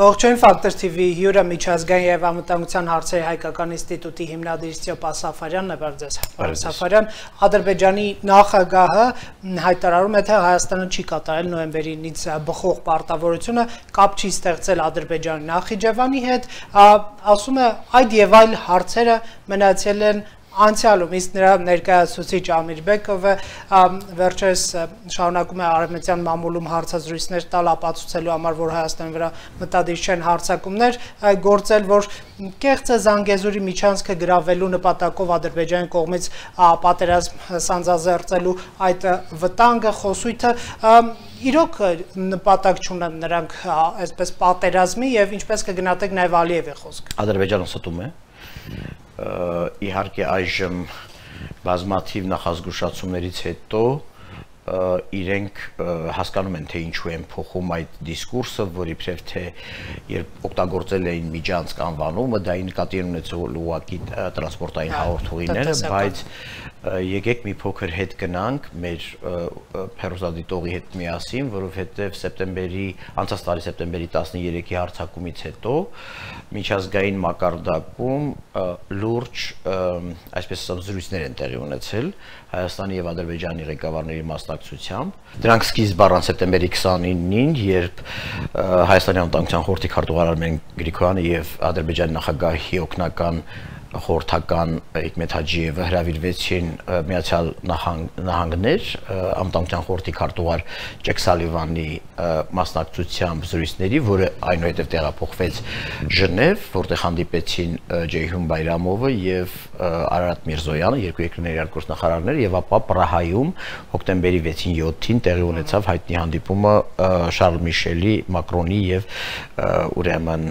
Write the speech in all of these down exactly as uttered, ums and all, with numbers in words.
Ողջույն Ֆակտոր T V հյուրը միջազգային եւ անվտանգության հարցերի հայկական ինստիտուտի հիմնադիր Ստեփան Սաֆարյանն է, բարև ձեզ։ Պարոն Սաֆարյան, Ադրբեջանի նախագահը հայտարարում է, թե Հայաստանը չի կատարել նոյեմբերինից բխող պարտավորությունը, կապ չի ստեղծել Ադրբեջանի Նախիջևանի հետ, ասում է այդ եւ այլ հարցերը մնացել են անցյալում, իսկ նրա ներկայացուցիչ Ամիր Բեկովը վերջերս շարունակում է արևմտյան մամուլում հարցազրույցներ տալ ապացուցելու համար, որ Հայաստանի վրա մտադիր չեն հարձակումներ գործել, որ կեղծ է Զանգեզուրի միջանցքը գրավելու նպատակով Ադրբեջանի կողմից պատերազմ սանձազերծելու այդ վտանգը, խոսույթը իրոք նպատակ չունեն նրանք այսպես պատերազմի եւ ինչպես կգնահատեք նաեւ Ալիևի խոսքը։ Ադրբեջանը ստում է իհարկե այժմ բազմաթիվ նախազգուշացումներից հետո իրենք հասկանում են, թե ինչու են փոխում այդ դիսկուրսը, որ իբրև թե երբ օգտագործել էին միջանցք անվանումը, դա նկատի ունեցել ուղղակի տրանսպորտային հաղորդողիները, բայց եկեք մի փոքր հետ գնանք մեր հեռուստադիտողի հետ միասին, որովհետև սեպտեմբերի անցած տարի սեպտեմբերի տասներեքի հարձակումից հետո միջազգային մակարդակում լուրջ այսպես ասած զրույցներ են տեղի ունեցել Հայաստանի եւ Ադրբեջանի ղեկավարների մասնակցությամբ։ Դրանք սկիզբ առան սեպտեմբերի քսանինին, երբ Հայաստանի անվտանգության խորհրդի քարտուղար Արմեն Գրիգորյանը եւ Ադրբեջանի նախագահի օգնական խորհրդական Հիկմետ Հաջիևը հրավիրվեցին Միացյալ Նահանգներ անվտանգության խորհրդի քարտուղար Ջեք Սալիվանի մասնակցությամբ զրույցների, որը այնուհետև տեղափոխվեց Ժնև, որտեղ հանդիպեցին Ջեյհուն Բայրամովը եւ Արարատ Միրզոյանը, երկու երկրների արտգործնախարարները, եւ ապա Պրահայում հոկտեմբերի վեցին յոթին տեղի ունեցավ հայտնի հանդիպումը Շարլ Միշելի, Մակրոնի եւ ուրեմն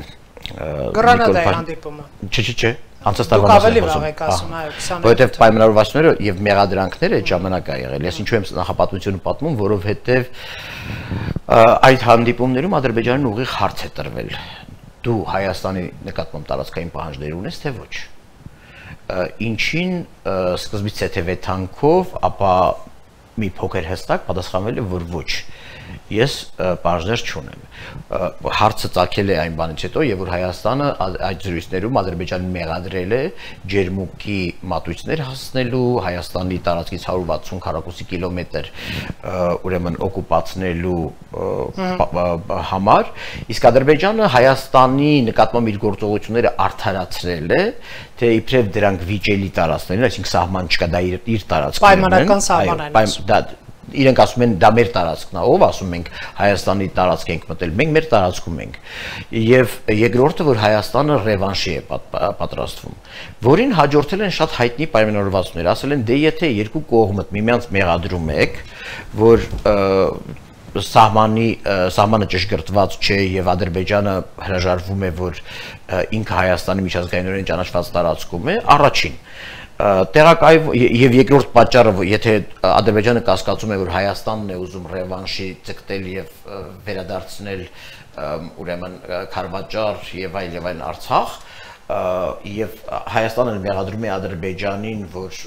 Գրանադայի հանդիպումը։ Չէ, չէ, չէ։ Անցած տարվա որովհետև պայմանավորվածությունները եւ մեղադրանքները այդ ժամանակ ա եղել։ Ես ինչու եմ նախապատմությունը պատմում, որովհետև այդ հանդիպումներում Ադրբեջանին ուղիղ հարց է տրվել։ Դու Հայաստանի նկատմամբ տարածքային պահանջներ ունես, թե ոչ։ Ինչին սկզբից թեթևեթանքով, ապա մի փոքր հստակ պատասխանվել է, որ ոչ։ Ես պահանջներ չունեմ։ Հարցը ծագել է այն բանից հետո, եւ որ Հայաստանը այդ զրույցներում Ադրբեջանին մեղադրել է ջերմուկի մատույցներ հասցնելու, Հայաստանի տարածքից հարյուր վաթսուն քառակուսի կիլոմետր ուրեմն օկուպացնելու համար, իսկ Ադրբեջանը Հայաստանի նկատմամբ իր գործողությունները արդարացրել է, թե իբրև դրանք վիճելի տարածքներ են, այսինքն սահման չկա, դա իր տարածքներն են, պայմանական սահման են։ Իրենք ասում են դա մեր տարածքն է, ով ասում ենք Հայաստանի տարածք ենք մտել, մենք մեր տարածքում ենք։ Եվ երկրորդը, որ Հայաստանը ռևանշի է պատրաստվում, որին հաջորդել են շատ հայտնի պայմանավորվածություններ, ասել են, դե եթե երկու կողմդ միմյանց մեղադրում եք, որ սահմանի սահմանը ճշգրտված չէ եւ Ադրբեջանը հրաժարվում է, որ ինքը Հայաստանի միջազգայինորեն ճանաչված տարածքում է, առաջին տեղակայվ եւ երկրորդ պատճառը, եթե Ադրբեջանը կասկածում է, որ Հայաստանն է ուզում ռևանշի ցկտել եւ վերադարձնել ուրեմն Քարվաճար եւ այլ եւ այլ Արցախ, եւ Հայաստանը մեղադրում է Ադրբեջանին, որ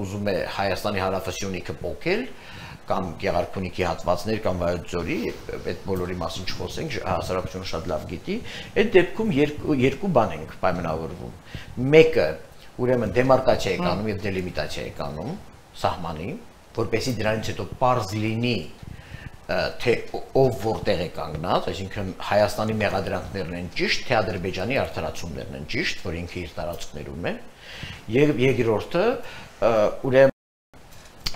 ուզում է Հայաստանի հարավասյունիքը փոկել, կամ Գեղարքունիքի հատվածներ կամ Վայոց ձորի, այդ բոլորի մասին չխոսենք, հասարակությունը շատ լավ գիտի, այդ դեպքում երկու բան ենք պայմանավորվում։ Մեկը ուրեմն դեմարկացիա է կանում եւ դելիմիտացիա է կանում սահմանի, որպեսզի դրանից հետո պարզ լինի, թե ով որտեղ է կանգնած, այսինքն Հայաստանի մեղադրանքներն են ճիշտ, թե Ադրբեջանի արդարացումներն են ճիշտ, որ ինքը իր տարածքներում է, եւ երկրորդը ուրեմն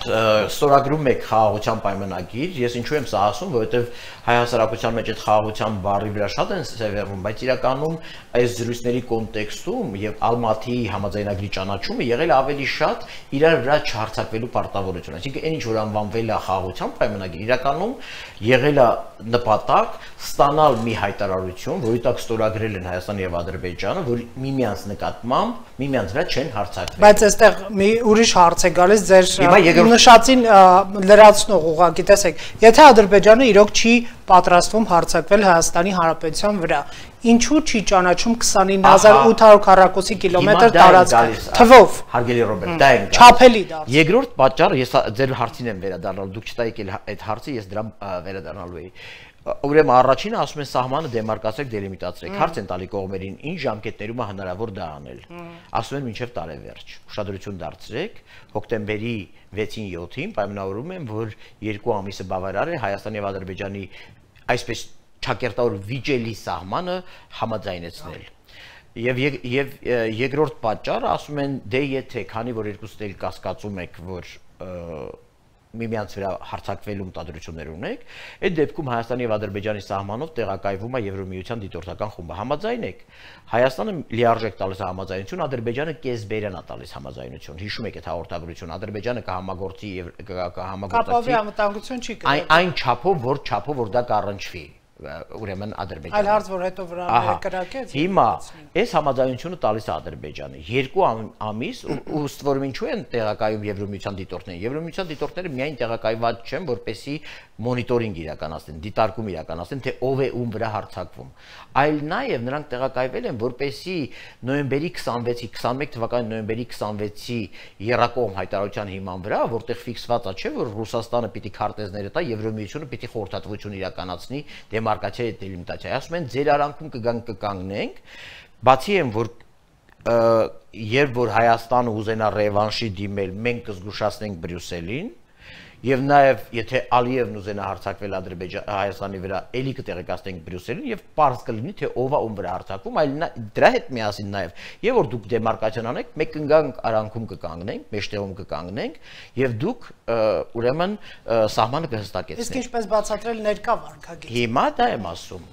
ստորագրում եք խաղաղության պայմանագիր, ես ինչու եմ սա ասում, որովհետև հայ հասարակության մեջ այդ խաղաղության բառի վրա շատ են սևեռվում, բայց իրականում այս զրույցների կոնտեքստում եւ Ալմատիի համաձայնագրի ճանաչումը եղել է ավելի շատ իրար վրա չհարցակվելու պարտավորություն, այսինքն այն ինչ որ անվանվել է խաղաղության պայմանագիր, իրականում եղել է նպատակ ստանալ մի հայտարարություն, որի տակ ստորագրել են Հայաստանը եւ Ադրբեջանը, որ միմյանց նկատմամբ միմյանց վրա չեն հարձակվել։ Բայց այստեղ մի ուրիշ հարց է գալիս ձեր նշածին լրացնող ուղղակի, տեսեք, եթե Ադրբեջանը իրոք չի պատրաստվում հարձակվել Հայաստանի Հանրապետության վրա։ Ինչու չի ճանաչում քսանինը հազար ութ հարյուր քառակուսի կիլոմետր տարածք թվով։ Հարգելի Ռոբերտ, դա է չափելի դարձ։ Երկրորդ պատճառը, ես ձեր հարցին եմ վերադառնալ, դուք չտայիք այդ հարցը, ես դրան վերադառնալու էի։ Ուրեմն առաջինը ասում են սահմանը դեմարկացեք, դելիմիտացրեք, հարց են տալի կողմերին, ինչ ժամկետներում է հնարավոր դա անել։ Ասում են մինչև տարեվերջ։ Ուշադրություն դարձրեք, հոկտեմբերի վեցին յոթին պայմանավորում են, որ երկու ամիսը բավարար է Հայաստանի եւ Ադրբեջանի այսպես ճակերտավոր վիճելի սահմանը համաձայնեցնել։ Եվ եւ երկրորդ պատճառը ասում են դե եթե քանի որ երկուսն էլ կասկածում եք, որ միմյանց վրա հարձակվելու մտադրություններ ունեք, այդ դեպքում Հայաստանի եւ Ադրբեջանի սահմանով տեղակայվում է Եվրոմիության դիտորդական խումբը։ Համաձայն եք։ Հայաստանը լիարժեք տալիս համաձայնություն, Ադրբեջանը կեսբերան է տալիս համաձայնություն։ Հիշում եք այդ հաղորդագրությունը, Ադրբեջանը կհամագործի եւ կհամագործակցի։ Կապավի անվտանգություն չի կրել։ Այն չափով, որ չափով որ դա կառնչվի։ Ուրեմն Ադրբեջանը։ Այլ հարց որ հետո վրա կրակեց։ Հիմա այս համաձայնությունը տալիս է Ադրբեջանը։ Երկու ամիս ըստ որում ինչու են տեղակայում Եվրոմիության դիտորդները։ Եվրոմիության դիտորդները միայն տեղակայված չեն, որպեսզի մոնիտորինգ իրականացնեն, դիտարկում իրականացնեն, թե ով է ում վրա հարձակվում։ Այլ նաև նրանք տեղակայվել են, որպեսզի նոյեմբերի քսանվեցի, քսանմեկ թվականի նոյեմբերի քսանվեցի եռակողմ հայտարարության հիման վրա, որտեղ ֆիքսված է, չէ, որ Ռուսաստանը պիտի քարտեզները տա, Եվրոմիությունը պիտի խորհրդատվություն իրականացնի դեմարկացիա եւ դելիմիտացիա։ Ասում են ձեր արանքում կգանք կկանգնենք, բացի են որ երբ որ Հայաստանը ուզենա ռևանշի դիմել, մենք կզգուշացնենք Բրյուսելին եւ նաեւ եթե Ալիևն ուզենա հարձակվել Ադրբեջան Հայաստանի վրա, ելի կտեղեկացնենք Բրյուսելին եւ պարզ կլինի թե ով է ում վրա հարձակվում, այլ դրա հետ միասին նաեւ եւ որ դուք դեմարկացիան անեք, մենք կգանք արանքում կկանգնենք, մեջտեղում կկանգնենք եւ դուք ուրեմն սահմանը կհստակեցնեք։ Իսկ ինչպես բացատրել ներկա վարքագիծ։ Հիմա դա եմ ասում։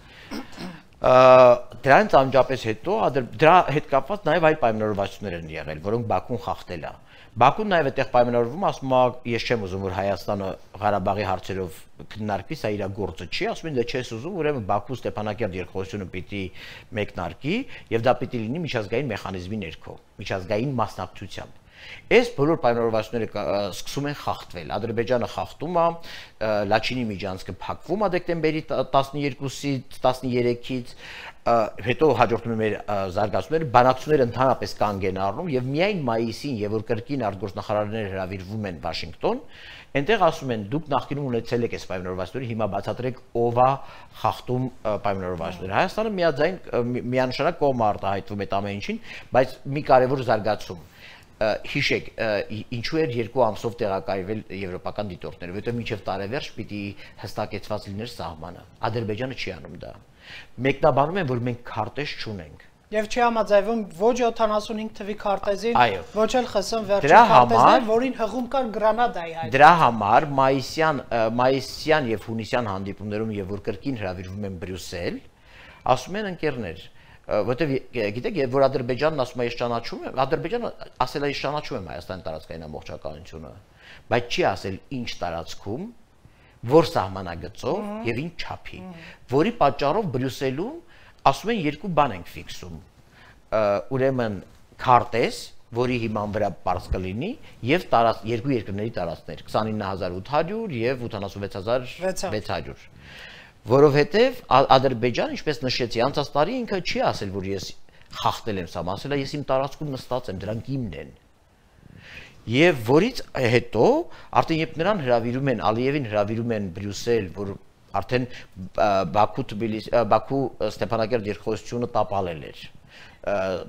Դրանից անմիջապես հետո դրա հետ կապված նաև այլ պայմանավորվածություններ են եղել, որոնք Բաքուն խախտել է։ Բաքուն նաև այդտեղ պայմանավորվում է, ասում է, ես չեմ ուզում, որ Հայաստանը Ղարաբաղի հարցերով քննարկվի, սա իր գործը չի, ասում են, դե չես ուզում, ուրեմն Բաքու Ստեփանակերտ երկխոսությունը պիտի մեկնարկի եւ դա պիտի լինի միջազգային մեխանիզմի ներքո, միջազգային մասնակցությամբ։ Այս բոլոր պայմանավորվածությունները սկսում են խախտվել։ Ադրբեջանը խախտում է, Լաչինի միջանցքը փակվում է դեկտեմբերի տասնյոթից տասներեքից, հետո հաջորդում է մեր զարգացումները, բանակցությունները ընդհանրապես կանգ են առնում եւ միայն մայիսին, եւ որ կրկին արտգործնախարարները հրավիրվում են Վաշինգտոն, այնտեղ ասում են դուք նախկինում ունեցել եք այս պայմանավորվածությունները, հիմա բացատրեք ով է խախտում պայմանավորվածությունները։ Հայաստանը միաձայն միանշանակ կողմ արտահայտվում այդ ամեն ինչին, բայց մի կարևոր զարգացում հիշեք, ինչու էր երկու ամսով տեղակայվել եվրոպական դիտորդները, որովհետև մինչև տարեվերջ պիտի հստակեցված լիներ սահմանը։ Ադրբեջանը չի անում դա։ Մեկնաբանում են, որ մենք քարտեզ չունենք։ Եվ չի համաձայնվում ոչ յոթանասունհինգ թվի քարտեզին, ոչ էլ ԽՍՀՄ վերջին Դրա քարտեզին, որին հղում կար Գրանադայի հայտ։ Դրա համար մայիսյան մայիսյան եւ հունիսյան հանդիպումներում եւ որ կրկին հրավիրվում են Բրյուսել, ասում են ընկերներ, որտեվ գիտեք, որ Ադրբեջանն ասում է ես ճանաչում եմ, Ադրբեջանը ասել է ես ճանաչում եմ Հայաստանի տարածքային ամբողջականությունը, բայց չի ասել ինչ տարածքում, որ սահմանագծով եւ ինչ չափի, որի պատճառով Բրյուսելում ասում են երկու բան ենք ֆիքսում, ուրեմն քարտեզ, որի հիման վրա պարզ կլինի եւ երկու երկրների տարածքներ քսանինը հազար ութ հարյուր եւ ութանասունվեց հազար վեց հարյուր, որովհետեւ Ադրբեջանը, ինչպես նշեցի, անցած տարի ինքը չի ասել, որ ես խախտել եմ սա, ասել է ես իմ տարածքում նստած եմ, դրանք իմն են։ Եվ որից հետո արդեն երբ նրան հրավիրում են, Ալիևին հրավիրում են Բրյուսել, որ արդեն Բաքու Թբիլիսի, Բաքու Ստեփանակերտ երկխոսությունը տապալել էր։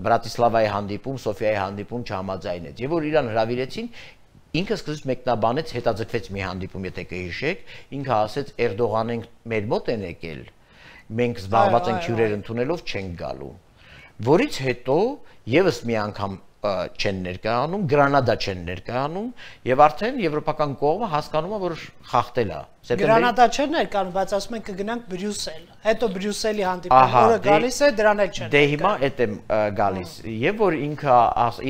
Բրատիսլավայի հանդիպում, Սոֆիայի հանդիպում չհամաձայնեց։ Եվ որ իրան հրավիրեցին, ինքը սկզբից մեկնաբանեց, հետաձգվեց մի հանդիպում, եթե կհիշեք, ինքը ասեց Էրդողանեն մեր մոտ են եկել, մենք զբաղված ենք հյուրեր ընդունելով չենք գալու։ Որից հետո եւս մի անգամ չեն ներկայանում, Գրանադա չեն ներկայանում եւ արդեն եվրոպական կողմը հասկանում է, որ խախտել է։ Գրանադա չեն ներկայանում, բայց ասում են կգնանք Բրյուսել։ Հետո Բրյուսելի հանդիպումը որը գալիս է, դրան էլ չեն։ Դե հիմա այդ է գալիս։ Եվ որ ինքը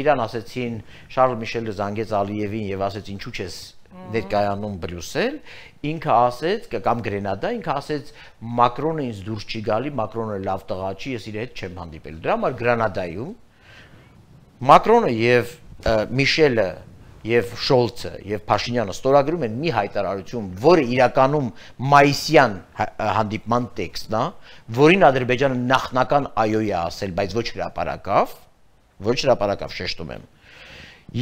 իրան ասեցին, Շարլ Միշելը զանգեց Ալիևին եւ ասեց ինչու՞ չես ներկայանում Բրյուսել, ինքը ասեց կամ Գրանադա, ինքը ասեց Մակրոնը ինձ դուրս չի գալի, Մակրոնը լավ տղա չի, ես իր հետ չեմ հանդիպել։ Դրա համար Գրանադայում Մակրոնը եւ Միշելը եւ Շոլցը եւ Փաշինյանը ստորագրում են մի հայտարարություն, որը իրականում մայիսյան հանդիպման տեքստն է, որին Ադրբեջանը նախնական այոյ է ասել, բայց ոչ հրապարակավ, ոչ հրապարակավ շեշտում եմ։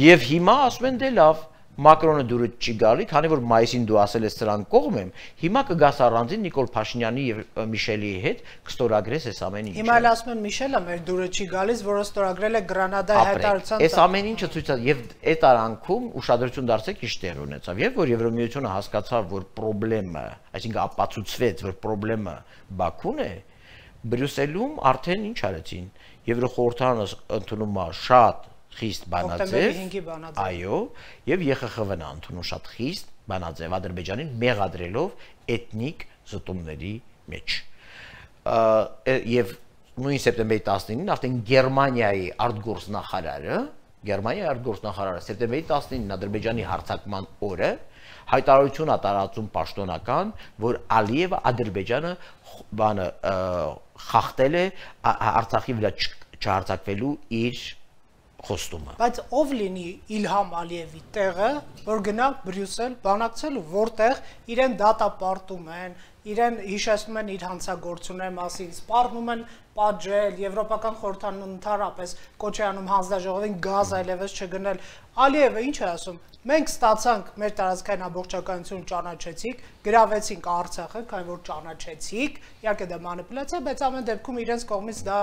Եվ հիմա ասում են դե լավ, Մակրոնը դուրս չի գալի, քանի որ մայիսին դու ասել ես սրան կողմ եմ, հիմա կգաս առանձին Նիկոլ Փաշինյանի եւ Միշելի հետ կստորագրես այս ամեն ինչը։ Հիմա էլ ասում են Միշելը մեր դուրս չի գալիս, որը ստորագրել է Գրանադայի հայտարարության։ Այս ամեն ինչը ցույց է եւ այդ արանքում ուշադրություն դարձեք ինչ տեղ ունեցավ։ Եվ որ Եվրոմիությունը հասկացավ, որ խնդրեմը, այսինքն ապացուցվեց, որ խնդրեմը Բաքուն է, Բրյուսելում արդեն ինչ արեցին։ Եվրոխորհրդանը ընդունում է շատ խիստ բանաձև, այո, եւ ԵԽԽՎ-ն ընդունում շատ խիստ բանաձև Ադրբեջանին մեղադրելով էթնիկ զտումների մեջ։ Եվ նույն սեպտեմբերի տասնինին արդեն Գերմանիայի արտգործնախարարը, Գերմանիայի արտգործնախարարը սեպտեմբերի տասնինին Ադրբեջանի հարձակման օրը հայտարարություն է տարածում պաշտոնական, որ Ալիևը Ադրբեջանը բանը խախտել է Արցախի վրա չհարձակվելու իր խոստումը։ Բայց ով լինի Իլհամ Ալիևի տեղը, որ գնա Բրյուսել բանակցելու, որտեղ իրեն դատապարտում են, իրեն հիշեցնում են իր հանցագործությունների մասին, սպառնում են պատժել, Եվրոպական խորհրդանուն ընդհանրապես կոչ է անում հանձնաժողովին գազ այլևս չգնել։ Ալիևը ինչ է ասում։ Մենք ստացանք մեր տարածքային ամբողջականություն ճանաչեցիք, գրավեցինք Արցախը, քանի որ ճանաչեցիք, իհարկե դա մանիպուլյացիա, բայց ամեն դեպքում իրենց կողմից դա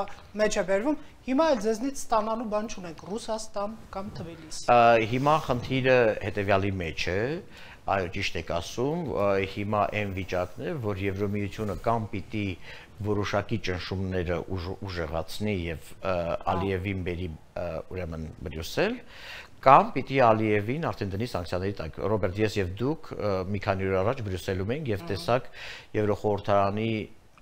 մեջ է բերվում։ Հիմա էլ ձեզնից ստանալու բան չունենք, Ռուսաստան կամ Թբիլիսի։ Հիմա խնդիրը հետևյալի մեջ է, այո, ճիշտ եք ասում, հիմա այն վիճակն է, որ Եվրոմիությունը կամ պիտի որոշակի ճնշումները ուժեղացնի եւ Ալիևին բերի ուրեմն Բրյուսել, կամ պիտի Ալիևին արդեն դնի սանկցիաների տակ։ Ռոբերտ, ես եւ դուք մի քանի օր առաջ Բրյուսելում ենք եւ տեսակ Եվրոխորհրդարանի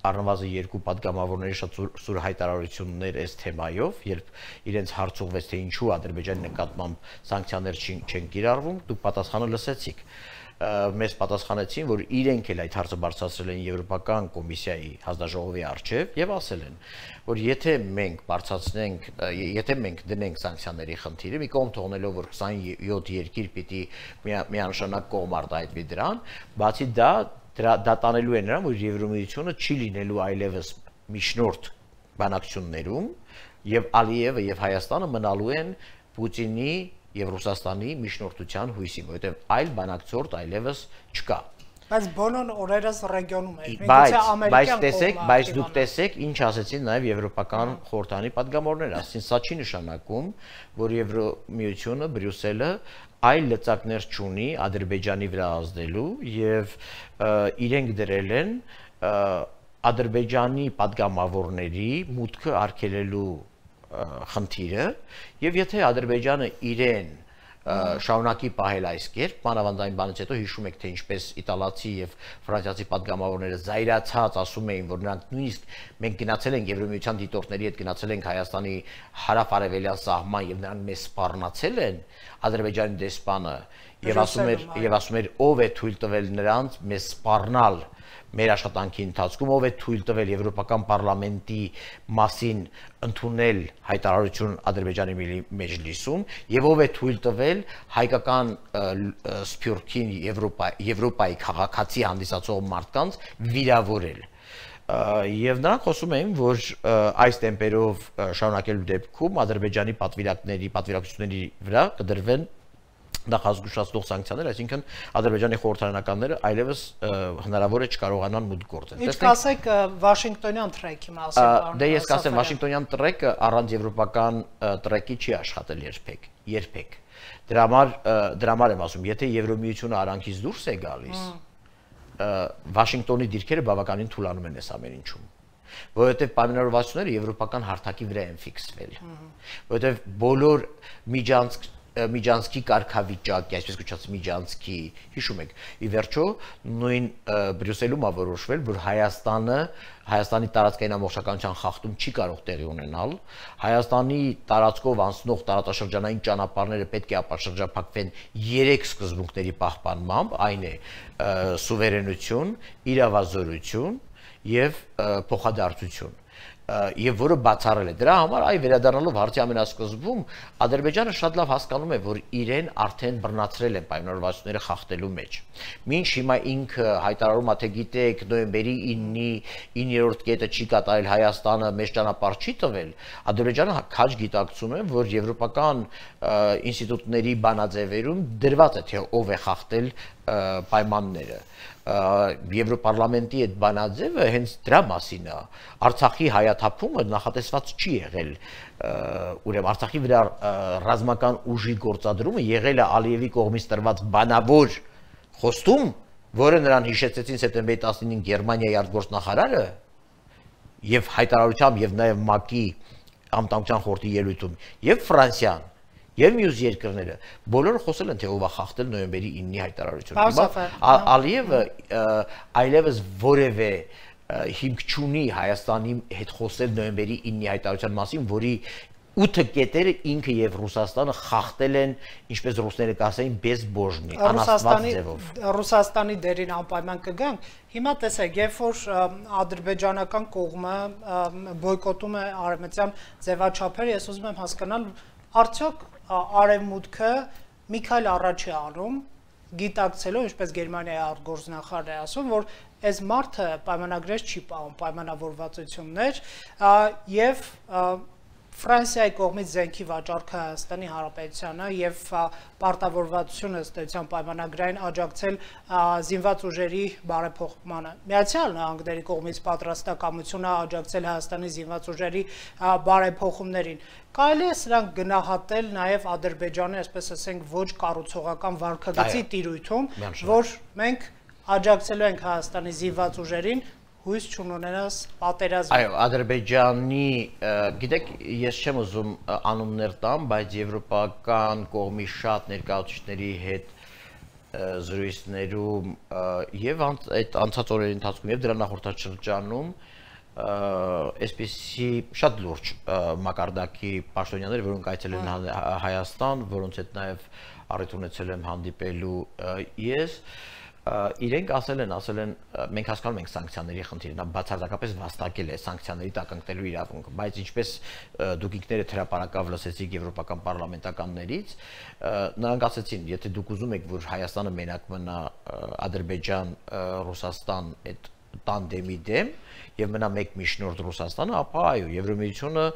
առնվազն երկու պատգամավորների շատ սուր հայտարարություններ այս թեմայով, երբ իրենց հարց ուղղվեց թե ինչու Ադրբեջանի նկատմամբ սանկցիաներ չեն կիրառվում, դուք պատասխանը լսեցիք։ Մեզ պատասխանեցին, որ իրենք էլ այդ հարցը բարձրացրել են Եվրոպական կոմիսիայի հանձնաժողովի առջև եւ ասել են, որ եթե մենք բարձրացնենք, եթե մենք դնենք սանկցիաների խնդիրը, մի կողմ թողնելով, որ քսանյոթ երկիր պիտի միանշանակ կողմ արտահայտվի դրան, բացի դա դա տանելու է նրան, որ Եվրոմիությունը չի լինելու այլևս միջնորդ բանակցություններում եւ Ալիևը եւ Հայաստանը մնալու են Պուտինի եւ Ռուսաստանի միջնորդության հույսին, որովհետեւ այլ բանակցորդ այլևս չկա։ Բայց բոլոր օրերս ռեգիոնում է։ Բայց տեսեք, բայց դուք տեսեք, ինչ ասեցին նաեւ Եվրոպական խորհրդանի պատգամավորները, ասին սա չի նշանակում, որ Եվրոմիությունը, Բրյուսելը այլ լծակներ չունի Ադրբեջանի վրա ազդելու եւ իրենք դրել են Ադրբեջանի падգամավորների մուտքը արգելելու խնդիրը եւ եթե Ադրբեջանը իրեն շարունակի պահել այս կերպ, մանավանդային բանից հետո հիշում եք թե ինչպես իտալացի եւ ֆրանսիացի падգամավորները զայրացած ասում էին, որ նրանք նույնիսկ մենք գնացել ենք Եվրոմիության դիտորդների հետ գնացել ենք Հայաստանի հարավ-արևելյան սահման եւ նրանք մեզ սպառնացել են Ադրբեջանի դեսպանը եւ ասում էր եւ ասում էր ով է թույլ տվել նրանց մեզ սպառնալ մեր աշխատանքի ընթացքում, ով է թույլ տվել Եվրոպական պարլամենտի մասին ընդունել հայտարարություն Ադրբեջանի մեջլիսում եւ ով է թույլ տվել հայկական սփյուռքին Եվրոպայի քաղաքացի հանդիսացող մարդկանց վիրավորել։ Եվ նրանք խոսում էին, որ այս տեմպերով շարունակելու դեպքում Ադրբեջանի պատվիրակների, պատվիրակությունների վրա կդրվեն նախազգուշացնող սանկցիաներ, այսինքն Ադրբեջանի խորհրդարանականները այլևս հնարավոր է չկարողանան մուտք գործել։ Ինչ կասեք Վաշինգտոնյան տրեքի մասին։ Դե ես կասեմ Վաշինգտոնյան տրեկը առանց եվրոպական տրեկի չի աշխատել երբեք, երբեք։ Դրա համար դրա համար եմ ասում, եթե Եվրոմիությունը արանքից դուրս է գալիս, Վաշինգտոնի դիրքերը բավականին թուլանում են այս ամեն ինչում։ Որովհետև պայմանավորվածությունները եվրոպական հարթակի վրա են ֆիքսվել։ Որովհետև բոլոր միջանցք Միջանցքի կարգավիճակի, այսպես կոչված Միջանցքի, հիշում եք, ի վերջո նույն Բրյուսելում ա որոշվել, որ Հայաստանը Հայաստանի տարածքային ամբողջականության խախտում չի կարող տեղի ունենալ, Հայաստանի տարածքով անցնող տարածաշրջանային ճանապարհները պետք է ապաշրջափակվեն երեք սկզբունքների պահպանմամբ, այն է սուվերենություն, իրավազորություն եւ փոխադարձություն։ եւ որը բացառել է։ Դրա համար այ վերադառնալով հարցի ամենասկզբում Ադրբեջանը շատ լավ հասկանում է, որ իրեն արդեն բռնացրել են պայմանավորվածությունները խախտելու մեջ։ Մինչ հիմա ինքը հայտարարում է, թե գիտեք, նոյեմբերի իններորդ կետը չի կատարել Հայաստանը, մեծ ճանապարհ չի տվել, Ադրբեջանը քաջ գիտակցում է, որ եվրոպական ինստիտուտների բանաձևերում դրված է, թե ով է խախտել պայմանները։ Եվրոպարլամենտի այդ բանաձևը հենց դրա մասին է։ Արցախի հայաթափումը նախատեսված չի եղել, ուրեմն Արցախի վրա ռազմական ուժի գործադրումը եղել է Ալիևի կողմից տրված բանավոր խոստում, որը նրան հիշեցեցին սեպտեմբերի տասնինին Գերմանիայի արտգործնախարարը եւ հայտարարությամբ եւ նաեւ ՄԱԿ-ի անվտանգության խորհրդի ելույթում եւ Ֆրանսիան եւ մյուս երկրները բոլորը խոսել են, թե ով է խախտել նոյեմբերի ինի հայտարարությունը։ Ալիևը այլևս որևէ հիմք չունի Հայաստանի հետ խոսել նոյեմբերի ինի հայտարարության մասին, որի ութ կետերը ինքը եւ Ռուսաստանը խախտել են, ինչպես ռուսները կասեին, բեզբոժնի, անաստված ձևով։ Ռուսաստանի դերին անպայման կգանք։ Հիմա տեսեք, երբ որ ադրբեջանական կողմը բոյկոտում է արևմտյան ձևաչափերը, ես ուզում եմ հասկանալ, արդյոք Արևմուտքը մի քայլ առաջ է անում, գիտակցելով, ինչպես Գերմանիայի արտգործնախարարն է ասում, որ այս մարդը պայմանագրեր չի պահում, պայմանավորվածություններ եւ Ֆրանսիայի կողմից զենքի վաճառքը Հայաստանի Հանրապետությանը եւ պարտավորվածությունը ըստ պայմանագրային աջակցել զինված ուժերի բարեփոխմանը։ Միացյալ Նահանգների կողմից պատրաստակամությունը աջակցել Հայաստանի զինված ուժերի բարեփոխումներին։ Կարելի է սրանք գնահատել նաև Ադրբեջանի, այսպես ասենք, ոչ կառուցողական վարքագծի տիրույթում, որ մենք աջակցելու ենք Հայաստանի զինված ուժերին, հույս չունենաս պատերազմ։ Այո, Ադրբեջանի, գիտեք, ես չեմ ուզում անուններ տամ, բայց եվրոպական կողմի շատ ներկայացուցիչների հետ զրույցներում եւ այդ անցած օրերի ընթացքում եւ դրա նախորդաշրջանում այսպիսի շատ լուրջ մակարդակի պաշտոնյաներ, որոնք այցելել են Հայաստան, որոնց հետ նաեւ առիթ ունեցել եմ հանդիպելու ես, իրենք ասել են, ասել են, մենք հասկանում ենք սանկցիաների խնդիրը, նա բացարձակապես վաստակել է սանկցիաների տակ ընկնելու իրավունքը, բայց ինչպես դուք ինքներդ հրապարակավ լսեցիք եվրոպական պարլամենտականներից, նրանք ասեցին, եթե դուք ուզում եք, որ Հայաստանը մենակ մնա Ադրբեջան, Ռուսաստան այդ տանդեմի դեմ եւ մնա մեկ միջնորդ Ռուսաստանը, ապա այո, Եվրոմիությունը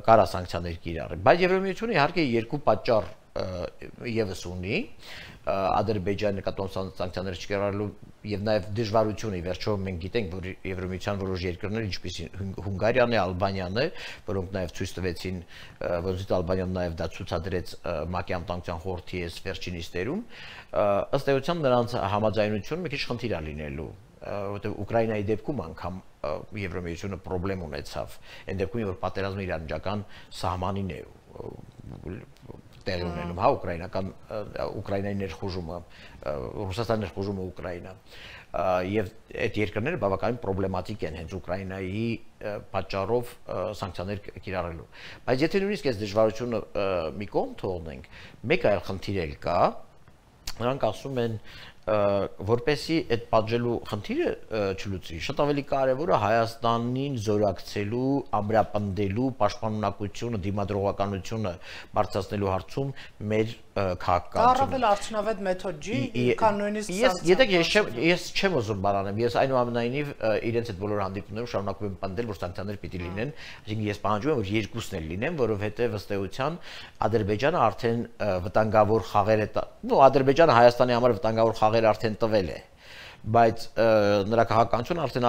կարա սանկցիաներ կիրառի, բայց Եվրոմիությունը իհարկե երկու պատճառ եւս ունի Ադրբեջանի նկատմամբ սանկցիաներ չկիրառելու եւ նաեւ դժվարությունը, ի վերջո մենք գիտենք, որ Եվրոմիության որոշ երկրներ, ինչպիսին Հունգարիան է, Ալբանիան է, որոնք նաեւ ցույց տվեցին, որոնցից Ալբանիան նաեւ դա ցուցադրեց ՄԱԿ-ի անվտանգության խորհրդի այս վերջին նիստերում, ըստ էության նրանց համաձայնությունը մի քիչ խնդիր է լինելու, որովհետեւ Ուկրաինայի դեպքում անգամ Եվրոմիությունը խնդրեմ ունեցավ, այն դեպքում որ պատերազմը իր անջական սահմանին է տեղի ունենում, հա, ուկրաինական Ուկրաինայի ներխուժումը, Ռուսաստանի ներխուժումը Ուկրաինա, եւ այդ երկրները բավականին պրոբլեմատիկ են հենց Ուկրաինայի պատճառով սանկցիաներ կիրառելու։ Բայց եթե նույնիսկ այս դժվարությունը մի կողմ թողնենք, մեկ այլ խնդիր էլ կա, նրանք ասում են, որպեսի այդ պատժելու խնդիրը չլուծվի, շատ ավելի կարևոր է Հայաստանին զորակցելու, ամրապնդելու, պաշտպանունակությունը, դիմադրողականությունը բարձրացնելու հարցում մեր քաղաքականությունը։ Դա առավել արդյունավետ մեթոդ չի, քան նույնիսկ սանկցիաները։ Ես ես չեմ ուզում բանանեմ, ես այնուամենայնիվ իրենց այդ բոլոր հանդիպումներում շարունակում եմ պնդել, որ սանկցիաներ պիտի լինեն, այսինքն ես պահանջում եմ, որ երկուսն էլ լինեն, որովհետև ըստ էության Ադրբեջանը արդեն վտանգավոր խաղեր է, նո Ադրբեջանը Հայաստանի համար վտանգավոր խաղեր արդեն տվել է, բայց նրա քաղաքականությունը արդեն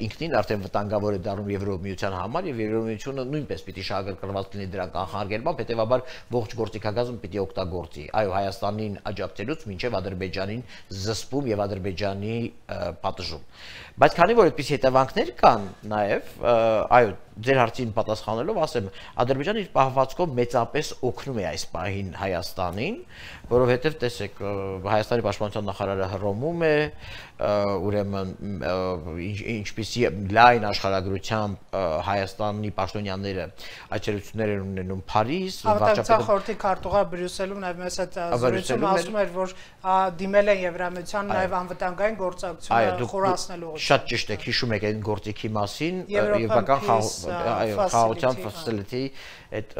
ինքնին արդեն վտանգավոր է դառնում Եվրոմիության համար եւ Եվրոմիությունը նույնպես պիտի շահագրգռված լինի դրան կանխարգելմամբ, հետեւաբար ողջ գործիքագազում պիտի օգտագործի, այո, Հայաստանին աջակցելուց մինչեւ Ադրբեջանին զսպում եւ Ադրբեջանի պատժում։ Բայց քանի որ այդպիսի հետևանքներ կան նաեւ, այո, ձեր հարցին պատասխանելով ասեմ, Ադրբեջանը իր պահվածքով մեծապես օգնում է այս պահին Հայաստանին, որովհետև տեսեք, Հայաստանի պաշտպանության նախարարը հռոմում է, ուրեմն ինչպիսի լայն աշխարհագրությամբ Հայաստանի պաշտոնյաները այցելություններ են ունենում Փարիզ, վարչապետը խորհրդի քարտուղար Բրյուսելում նաև մեզ հետ զրույցում ասում էր, որ դիմել են Եվրամիության նաև անվտանգային գործակցությունը խորացնելու։ Շատ ճիշտ եք, հիշում եք այն գործիքի մասին, եվրոպական խաղաղության facility այդ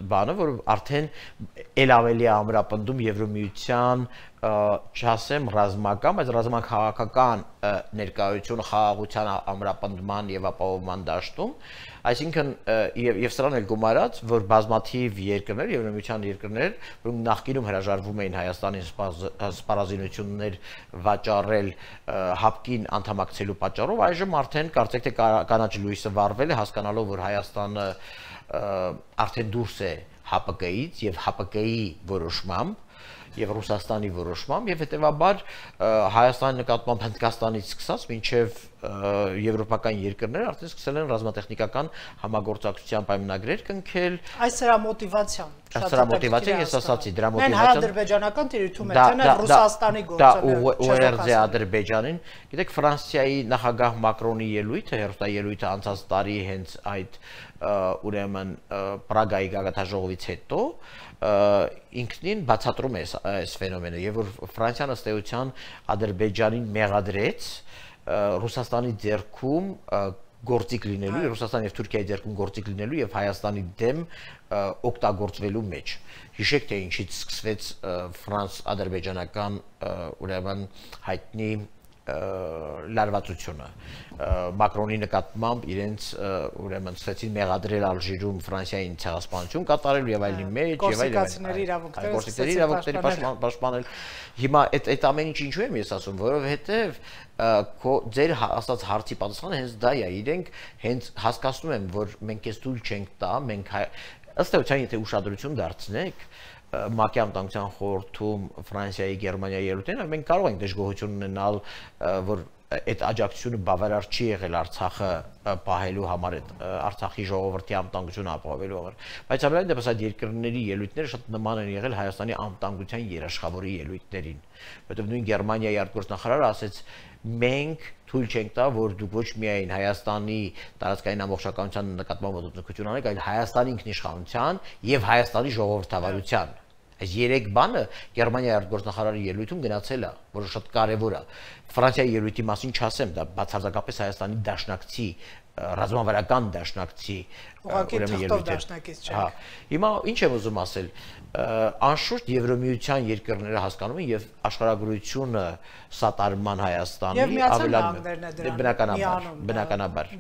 բանը, որ արդեն ել ավելի է ամրապնդում Եվրոմիության չասեմ ռազմական, բայց ռազմաքաղաքական ներկայությունը խաղաղության ամրապնդման եւ ապահովման դաշտում, այսինքն եւ սրան էլ գումարած, որ բազմաթիվ երկրներ, Եվրոմիության երկրներ, որոնք նախկինում հրաժարվում էին Հայաստանին սպառազինություններ վաճառել հապկին անդամակցելու պատճառով, այժմ արդեն կարծեք թե կանաչ լույսը վառվել է, հասկանալով, որ Հայաստանը արդեն դուրս է Հ Պ Կ-ից եւ Հ Պ Կ-ի որոշմամբ եւ Ռուսաստանի որոշմամբ եւ հետեւաբար Հայաստանի նկատմամբ Հնդկաստանից սկսած մինչեւ եվրոպական երկրներ արդեն սկսել են ռազմատեխնիկական համագործակցության պայմանագրեր կնքել։ Այս սրա մոտիվացիան շատ է մոտիվացիան, ես ասացի, դրա մոտիվացիան հայ-ադրբեջանական տիրույթում է, թե նա Ռուսաստանի գործոնը։ Դա ու էր ձե Ադրբեջանին, գիտեք Ֆրանսիայի նախագահ Մակրոնի ելույթը, հերոստաելույթը անցած տարի հենց այդ ուրեմն Պրագայի գագաթնաժողովից հետո ինքնին բացատրում է այս ֆենոմենը եւ որ Ֆրանսիան ըստ էության Ադրբեջանին մեղադրեց Ռուսաստանի ձեռքում գործիք լինելու, Ռուսաստանի եւ Թուրքիայի ձեռքում գործիք լինելու եւ Հայաստանի դեմ օգտագործվելու մեջ։ Հիշեք թե ինչից սկսվեց ֆրանս-ադրբեջանական ուրեմն հայտնի լարվածությունը Մակրոնի նկատմամբ իրենց ուրեմն ցեցին մեղադրել Ալժիրում Ֆրանսիային ցեղասպանություն կատարելու եւ այլնի մեջ եւ այլն գործիքների իրավունքները գործիքների իրավունքների պաշտպանել հիմա այդ այդ ամեն ինչ ինչու եմ ես ասում որովհետեւ ձեր ասած հարցի պատասխանը հենց դա է իրենք հենց հասկանում են որ մենք էս դուլ չենք տա մենք ըստ էության եթե ուշադրություն դարձնեք ՄԱԿ-ի անվտանգության խորհրդում Ֆրանսիայի, Գերմանիայի ելույթներն, մենք կարող ենք դժգոհություն ունենալ, որ այդ աջակցությունը բավարար չի եղել Արցախը պահելու համար, Արցախի ժողովրդի անվտանգությունը ապահովելու համար, բայց ամենայն դեպս այդ երկրների ելույթները շատ նման են եղել Հայաստանի անվտանգության երաշխավորի ելույթներին, որովհետև նույն Գերմանիայի արտգործնախարարը ասեց մենք թույլ չենք տա, որ դուք ոչ միայն Հայաստանի տարածքային ամբողջականության նկատմամբ ոտնձգություն անեք, այլ Հայաստանի ինքնիշխանության եւ Հայաստանի ժողովրդավարության։ Այս երեք բանը Գերմանիայի արտգործնախարարի ելույթում գնացել է, որը շատ կարևոր է։ Ֆրանսիայի ելույթի մասին չասեմ, դա բացարձակապես Հայաստանի դաշնակցի ռազմավարական դաշնակցի ուրեմն ելույթ է։ Հա, հիմա ինչ եմ ուզում ասել, անշուշտ Եվրոմիության երկրները հասկանում են եւ աշխարհագրությունը սատարման Հայաստանի ավելանում է բնականաբար, բնականաբար,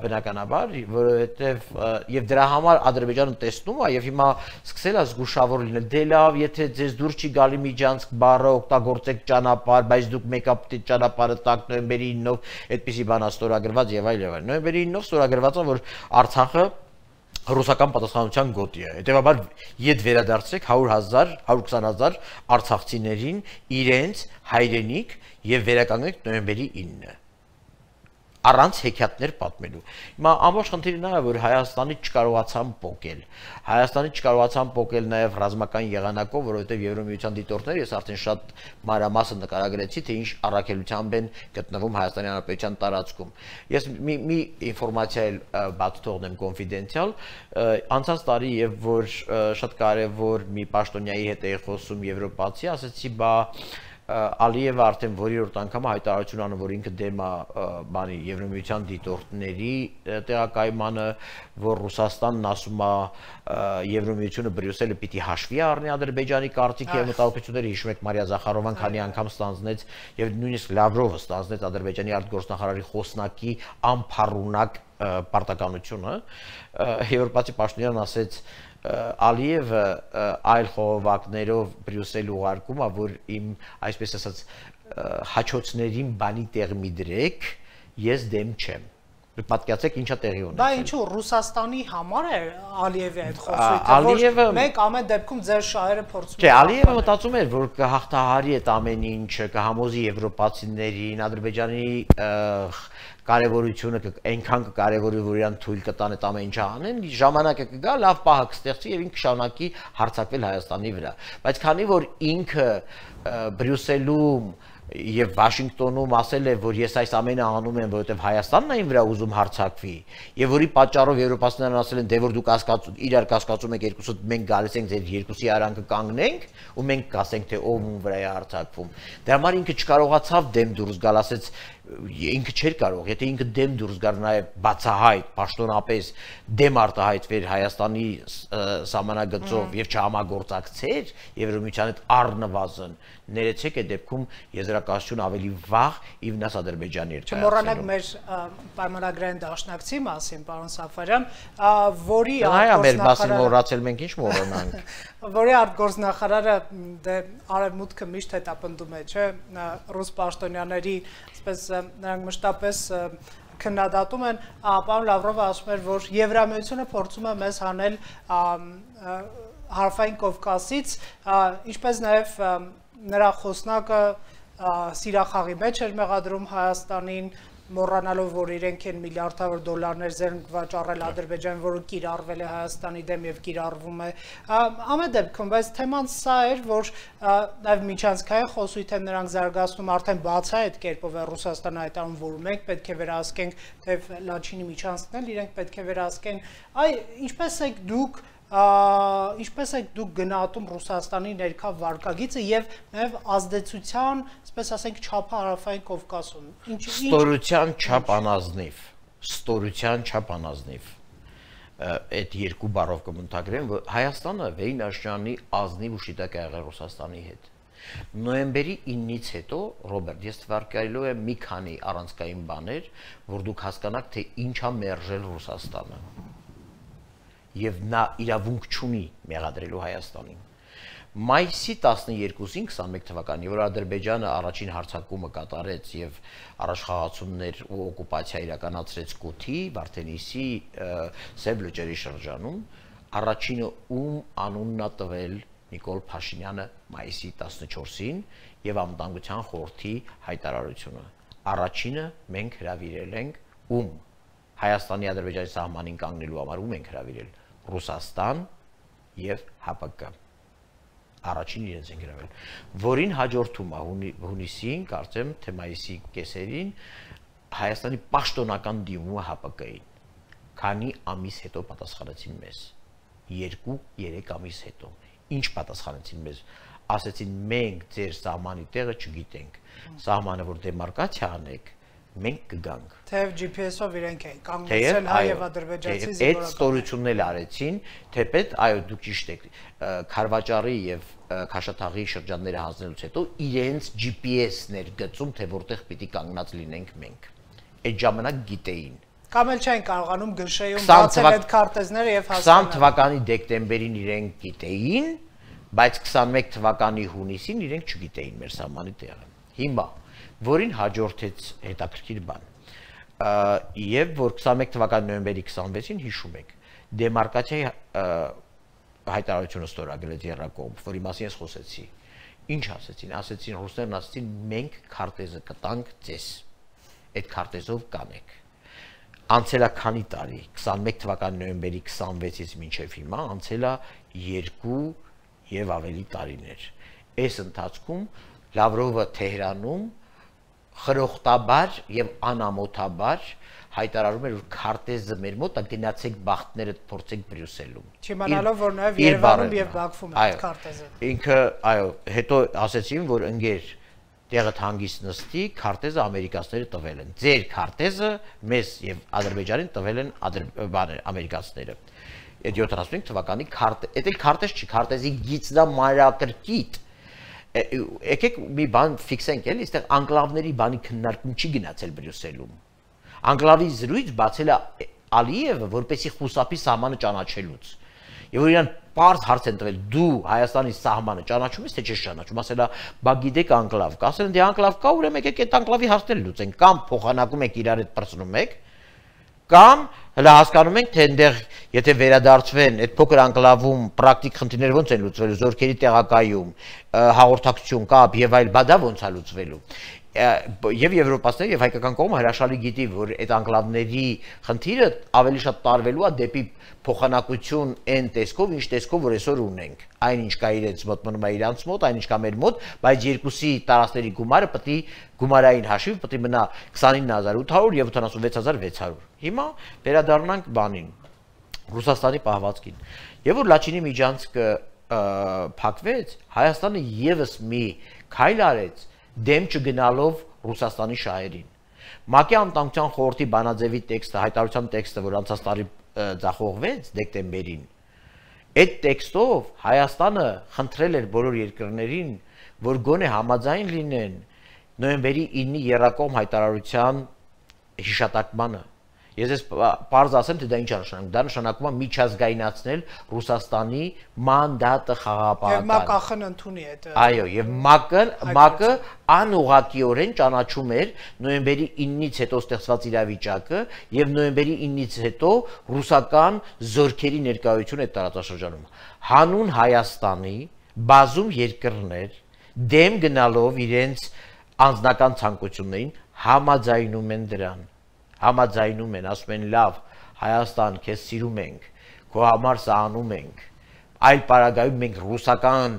բնականաբար, որովհետեւ եւ դրա համար Ադրբեջանը տեսնում է եւ հիմա սկսել է զգուշավոր լինել, դե լավ, եթե ձեզ դուր չի գալի Միջանցք բառը օգտագործեք ճանապարհ, բայց դուք մեկը պետք է ճանապարհը տակ նոյեմբերի ինով այդպիսի բան ստորագրված եւ այլ եւ այլ։ Նոյեմբերի ինով ստորագրված է, որ Արցախը ռուսական պատասխանության գոտի է։ Հետևաբար ետ վերադարձեք հարյուր հազար, հարյուր քսան հազար արցախցիներին իրենց հայրենիք եւ վերականգնեք նոյեմբերի ինը։ Առանց հեքիաթներ պատմելու։ Հիմա ամբողջ խնդիրը նա է, որ Հայաստանի չկարողացան փոկել։ Հայաստանի չկարողացան փոկել նաև ռազմական եղանակով, որովհետև Եվրոմիության դիտորդները ես արդեն շատ մանրամասն նկարագրեցի, թե ինչ առաքելությամբ են գտնվում Հայաստանի Հանրապետության տարածքում։ Ես մի մի ինֆորմացիա էլ բաց թողնեմ կոնֆիդենցիալ, անցած տարի եւ որ շատ կարեւոր մի պաշտոնյայի հետ էի խոսում եվրոպացի, ասեցի, բա Ալիևը արդեն որերորդ անգամ հայտարարություն անում, որ ինքը դեմ է բանի Եվրոմիության դիտորդների տեղակայմանը, որ Ռուսաստանն ասում է Եվրոմիությունը Բրյուսելը պիտի հաշվի առնի Ադրբեջանի կարծիքի եւ մտահոգությունները, հիշում եք Մարիա Զախարովան քանի անգամ ստանձնեց եւ նույնիսկ Լավրովը ստանձնեց Ադրբեջանի արտգործնախարարի խոսնակի անփառունակ պարտականությունը, եվրոպացի պաշտոնյան ասեց Ալիևը այլ խողովակներով Բրյուսել ուղարկում է, որ իմ, այսպես ասած, հաչոցներին բանի տեղ մի դրեք, ես դեմ չեմ։ Պատկերացեք ինչա տեղի ունեցել։ Դա ինչու Ռուսաստանի համար է Ալիևի այդ խոսքը, որ մեկ ամեն դեպքում ձեր շահերը փորձում են։ Չէ, Ալիևը մտածում էր, որ կհաղթահարի այդ ամեն ինչը, կհամոզի եվրոպացիներին, Ադրբեջանի կարևորությունը այնքան կկարևորի, որ իրան թույլ կտան այդ ամեն ինչը անեն, ժամանակը կգա, լավ պահը կստեղծի եւ ինքը կշարունակի հարձակվել Հայաստանի վրա։ Բայց քանի որ ինքը Բրյուսելում եւ Վաշինգտոնում ասել է, որ ես այս ամենը անում եմ, որովհետեւ Հայաստանն է ին վրա ուզում հարձակվի, եւ որի պատճառով եվրոպացիներն ասել են, դե որ դուք կասկածում, իրար կասկածում եք երկուսը, մենք գալիս ենք ձեր երկուսի արանքը կանգնենք, ու մենք կասենք, թե ով ում վրա է հարձակվում։ Դրա համար ինքը չկարողացավ դեմ դուրս գալ, ասեց ինքը չէր կարող, եթե ինքը դեմ դուրս գար նաև բացահայտ, պաշտոնապես դեմ արտահայտվեր Հայաստանի սահմանագծով եւ չհամագործակցեր Եվրոմիության հետ առնվազն, ներեցեք այդ դեպքում եզրակացություն ավելի վաղ ի վնաս Ադրբեջանի էր։ Չմոռանանք մեր պայմանագրային դաշնակցի մասին, պարոն Սաֆարյան, որի այո, մեր մասին մոռացել մենք ինչ մոռանանք։ Որի արտգործնախարարը դե արևմուտքը միշտ հետապնդում է, չէ՞, ռուս պաշտոնյաների, այսպես նրանք մշտապես քննադատում են, պարոն Լավրովը ասում էր, որ Եվրամիությունը փորձում է մեզ հանել Հարավային Կովկասից, ինչպես նաև նրա խոսնակը սիրախաղի մեջ էր մեղադրում Հայաստանին, մոռանալով, որ իրենք են միլիարդավոր դոլարներ զենք վաճառել Ադրբեջան, որը կիրառվել է Հայաստանի դեմ եւ կիրառվում է։ Ամեն դեպքում, բայց թեման սա էր, որ նաև միջանցքային խոսույթ են նրանք զարգացնում, արդեն բաց է այդ կերպով է Ռուսաստանը հայտարարում, որ մենք պետք է վերահսկենք, թեև Լաչինի միջանցքն էլ իրենք պետք է վերահսկեն։ Այ ինչպես եք դուք ինչպես եք դուք գնահատում Ռուսաստանի ներքա վարկագիծը եւ նաեւ ազդեցության, այսպես ասենք, չափը Հարավային Կովկասում։ Ստորության չափ անազնիվ, ստորության չափ անազնիվ։ Այդ երկու բառով կմնթագրեմ, որ Հայաստանը վերին աշճանի ազնիվ ու շիտակ է եղել Ռուսաստանի հետ։ Նոյեմբերի իննից հետո, Ռոբերտ, ես թվարկայելու եմ մի քանի առանցքային բաներ, որ դուք հասկանաք, թե ինչ է մերժել Ռուսաստանը։ Եվ նա իրավունք չունի մեղադրելու Հայաստանին։ Մայիսի տասներկուսին քսանմեկ թվականի, որ Ադրբեջանը առաջին հարձակումը կատարեց եւ առաջխաղացումներ ու օկուպացիա իրականացրեց Կոթի, Վարդենիսի, Սև լճերի շրջանում, առաջինը ում անունն է տվել Նիկոլ Փաշինյանը մայիսի տասնչորսին եւ Անվտանգության խորհրդի հայտարարությունը։ Առաջինը մենք հրավիրել ենք ում Հայաստանի Ադրբեջանի սահմանին կանգնելու համար ում ենք հրավիրել Ռուսաստան եւ ՀԱՊԿ։ Առաջին իրենց են գրավել, որին հաջորդում է հունիսին, կարծեմ թե մայիսի կեսերին Հայաստանի պաշտոնական դիմումը ՀԱՊԿ-ին։ Քանի ամիս հետո պատասխանեցին մեզ։ երկու-երեք ամիս հետո։ Ինչ պատասխանեցին մեզ։ Ասեցին մենք ձեր սահմանի տեղը չգիտենք։ Սահմանը որ դեմարկացիա անեք, մենք կգանք։ Թեև G P S-ով իրենք են կանգնեցել հայ եւ ադրբեջանցի զինվորական։ Այդ ստորությունն էլ արեցին, թեպետ, այո, դուք ճիշտ եք, Խարվաճարի եւ Քաշաթաղի շրջանները հանձնելուց հետո իրենց G P S-ներ գծում, թե որտեղ պիտի կանգնած լինենք մենք։ Այդ ժամանակ գիտեին։ Կամ էլ չեն կարողանում գշեյում բացել այդ քարտեզները եւ հասկանալ։ քսան թվականի դեկտեմբերին իրենք գիտեին, բայց քսանմեկ թվականի հունիսին իրենք չգիտեին մեր սահմանի տեղը։ Հիմա որին հաջորդեց հետաքրքիր բան։ Եվ որ քսանմեկ թվականի նոյեմբերի քսանվեցին հիշում եք, դեմարկացիայի հայտարարությունը ստորագրեց Եռակոմ, որի մասին ես խոսեցի։ Ինչ ասեցին, ասեցին ռուսներն ասեցին մենք քարտեզը կտանք ձեզ։ Այդ քարտեզով կանեք։ Անցել է քանի տարի, քսանմեկ թվականի նոյեմբերի քսանվեցից մինչև հիմա, անցել է երկու եւ ավելի տարիներ։ Այս ընթացքում Լավրովը Թեհրանում խրոխտաբար եւ անամոթաբար հայտարարում էր, որ քարտեզը մեր մոտ է, գնացեք բախտները փորձեք Բրյուսելում։ Չիմանալով, որ նաեւ Երևանում եւ Բաքվում է քարտեզը։ Ինքը, այո, հետո ասեցին, որ ընկեր տեղը հանգիստ նստի, քարտեզը ամերիկացիները տվել են։ Ձեր քարտեզը մեզ եւ Ադրբեջանին տվել են ամերիկացիները։ Այդ յոթանասունհինգ թվականի քարտեզ, այդ էլ քարտեզ չի, քարտեզի գիծն է մանրակրկիտ։ Եկեք մի բան ֆիքսենք էլի, այստեղ անկլավների բանի քննարկում չի գնացել Բրյուսելում։ Անկլավի զրույց բացել է Ալիևը, որպեսի խուսափի սահմանը ճանաչելուց։ Եվ որ իրան պարզ հարց են տվել, դու Հայաստանի սահմանը ճանաչում ես, թե չես ճանաչում, ասել է, բա գիտեք անկլավ կա, ասել են, դե անկլավ կա, ուրեմն եկեք այդ անկլավի հարցերը լուծենք, կամ փոխանակում եք իրար հետ պրծնում եք, կամ հələ հասկանում ենք, թե այնտեղ եթե վերադարձվեն այդ փոքր անկլավում պրակտիկ խնդիրները ոնց են լուծվելու, զորքերի տեղակայում, հաղորդակցություն, կապ եւ այլ, բա դա ոնց է լուծվելու։ Եվ եվրոպացիները եւ հայկական կողմը հրաշալի գիտի, որ այդ անկլավների խնդիրը ավելի շատ տարվելու է դեպի փոխանակություն այն տեսքով, ինչ տեսքով որ այսօր ունենք։ Այնինչ կա իրենց մոտ մնում է իրանց մոտ, այնինչ կա մեր մոտ, բայց երկուսի տարածքների գումարը պետք է գումարային հաշիվ պետք է մնա քսանինը հազար ութ հարյուր եւ ութանասունվեց հազար վեց հարյուր։ Հիմա վերադառնանք բանին, Ռուսաստանի պահվածքին։ Եվ որ Լաչինի միջանցքը փակվեց, Հայաստանը եւս մի քայլ արեց դեմ չգնալով Ռուսաստանի շահերին։ ՄԱԿ-ի անվտանգության խորհրդի բանաձևի տեքստը, հայտարարության տեքստը, որ անցած տարի ձախողվեց դեկտեմբերին, այդ տեքստով Հայաստանը խնդրել էր բոլոր երկրներին, որ գոնե համաձայն լինեն նոյեմբերի ինը եռակողմ հայտարարության հիշատակմանը։ Ես ես պարզ ասեմ, թե դա ինչ է նշանակում։ Դա նշանակում է միջազգայնացնել Ռուսաստանի մանդատը խաղաղապահական։ Եվ ՄԱԿ-ը ընդունի այդ։ Այո, եւ ՄԱԿ-ը ՄԱԿ-ը անուղղակիորեն ճանաչում էր նոյեմբերի ինից հետո ստեղծված իրավիճակը եւ նոյեմբերի ինից հետո ռուսական զորքերի ներկայությունը այդ տարածաշրջանում։ Հանուն Հայաստանի բազում երկրներ դեմ գնալով իրենց անձնական ցանկություններին համաձայնում են դրան։ Համաձայնում են, ասում են լավ, Հայաստան, քեզ սիրում ենք, քո համար սա անում ենք, այլ պարագայում մենք ռուսական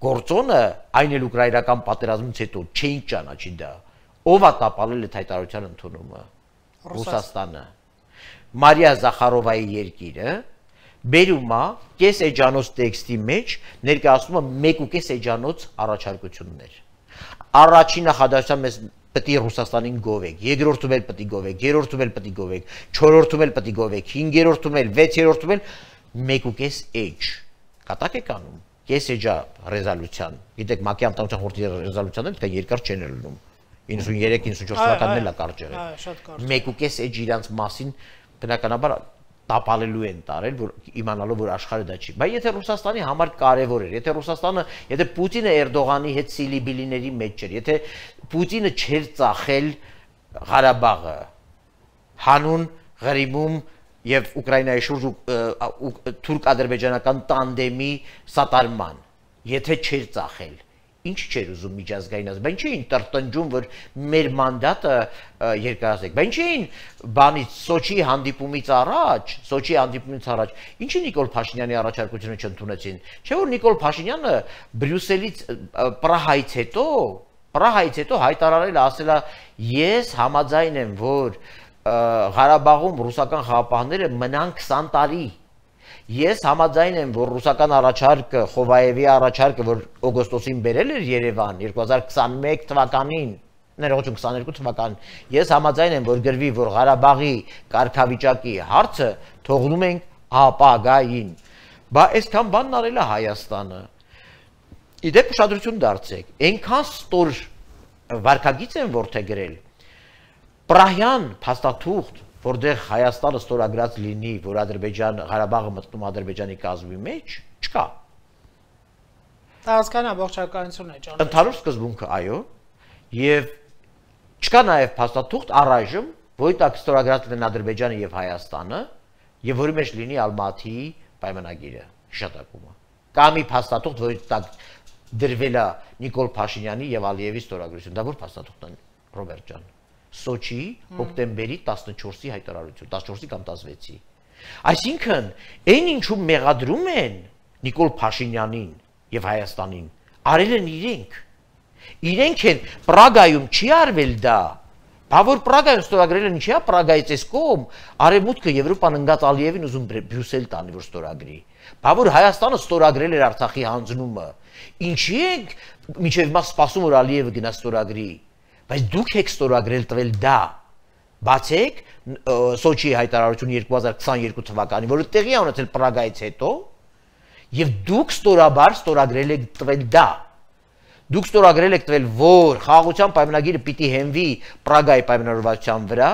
գործոնը, այն էլ ուկրաինական պատերազմից հետո չէինք ճանաչի դա։ Ով է տապալել այդ հայտարարության ընդունումը։ Ռուսաստանը։ Մարիա Զախարովայի երկիրը բերում է կես էջանոց տեքստի մեջ ներկայացնում է մեկ ու կես էջանոց առաջարկություններ։ Առաջին նախադասության մեզ պետք է Ռուսաստանին գովեք, երկրորդում էլ պետք է գովեք, երրորդում էլ պետք է գովեք, չորրորդում էլ պետք է գովեք, հինգերորդում էլ, վեցերորդում էլ մեկ ու կես էջ։ Կատակ եք անում։ Կես էջա ռեզոլյուցիան։ Գիտեք, ՄԱԿ-ի անվտանգության խորհրդի ռեզոլյուցիաները պետք է երկար չեն լինում։ իննսուններեք իննսունչորս թվականներն է կարճ եղել։ Մեկ ու կես էջ իրանց մասին բնականաբար տապալելու են տարել, որ իմանալով որ աշխարհը դա չի։ Բայց եթե Ռուսաստանի համար կարևոր էր, եթե Ռուսաստանը, եթե Պուտինը Էրդողանի հետ սիլիբիլիների մեջ էր, եթե Պուտինը չէր ծախել Ղարաբաղը հանուն Ղրիմում եւ Ուկրաինայի շուրջ թուրք-ադրբեջանական տանդեմի սատարման, եթե չէր ծախել, ինչ չէր ուզում միջազգայինացնել, բայց չէին տրտնջում, որ մեր մանդատը երկարացեք, բայց չէին բանից Սոչիի հանդիպումից առաջ, Սոչիի հանդիպումից առաջ, ինչի Նիկոլ Փաշինյանի առաջարկությունը չընդունեցին, չէ՞ որ Նիկոլ Փաշինյանը Բրյուսելից Պրահայից հետո, Պրահայից հետո հայտարարել ասել է, ես համաձայն եմ, որ Ղարաբաղում ռուսական խաղաղապահները մնան քսան տարի։ Ես համաձայն եմ, որ ռուսական առաջարկը, Խովայևի առաջարկը, որ օգոստոսին բերել էր Երևան երկու հազար քսանմեկ թվականին, ներողություն քսաներկու թվականին, ես համաձայն եմ, որ գրվի, որ Ղարաբաղի կարգավիճակի հարցը թողնում ենք ապագային։ Բա այսքան բանն արել է Հայաստանը։ Իդեպ ուշադրություն դարձեք, այնքան ստոր վարկագիծ են որդեգրել։ Պրահյան փաստաթուղթ, որտեղ Հայաստանը ստորագրած լինի, որ Ադրբեջան Ղարաբաղը մտնում Ադրբեջանի կազմի մեջ, չկա։ Տարածքային ամբողջականություն է ճանաչում։ Ընդհանուր սկզբունքը, այո, եւ չկա նաեւ փաստաթուղթ առայժմ, որի տակ ստորագրած լինեն Ադրբեջանը եւ Հայաստանը, եւ որի մեջ լինի Ալմատիի պայմանագիրը, հիշատակումը։ Կա մի փաստաթուղթ, որի տակ դրվել է Նիկոլ Փաշինյանի եւ Ալիևի ստորագրություն։ Դա որ փաստաթուղթն է, Ռոբերտ ջան։ Սոչի հոկտեմբերի տասնչորսի հայտարարություն, տասնչորսի կամ տասնվեցի։ Այսինքն, այն ինչու մեղադրում են Նիկոլ Փաշինյանին եւ Հայաստանին, արել են իրենք։ Իրենք են Պրագայում չի արվել դա։ Բա որ Պրագայում ստորագրել են, ինչի՞ է Պրագայից էս կողմ, Արևմուտքը Եվրոպան ընկած Ալիևին ուզում Բրյուսել տանի, որ ստորագրի։ Բա որ Հայաստանը ստորագրել էր Արցախի հանձնումը։ Ինչի՞ եք մինչև հիմա սպասում որ Ալիևը գնա ստորագրի։ Բայց դուք եք ստորագրել տվել դա։ Բացեք Սոչիի հայտարարություն երկու հազար քսաներկու թվականին, որը տեղի է ունեցել Պրագայից հետո, եւ դուք ստորաբար ստորագրել եք տվել դա։ Դուք ստորագրել եք տվել, որ խաղաղության պայմանագիրը պիտի հենվի Պրագայի պայմանավորվածության վրա,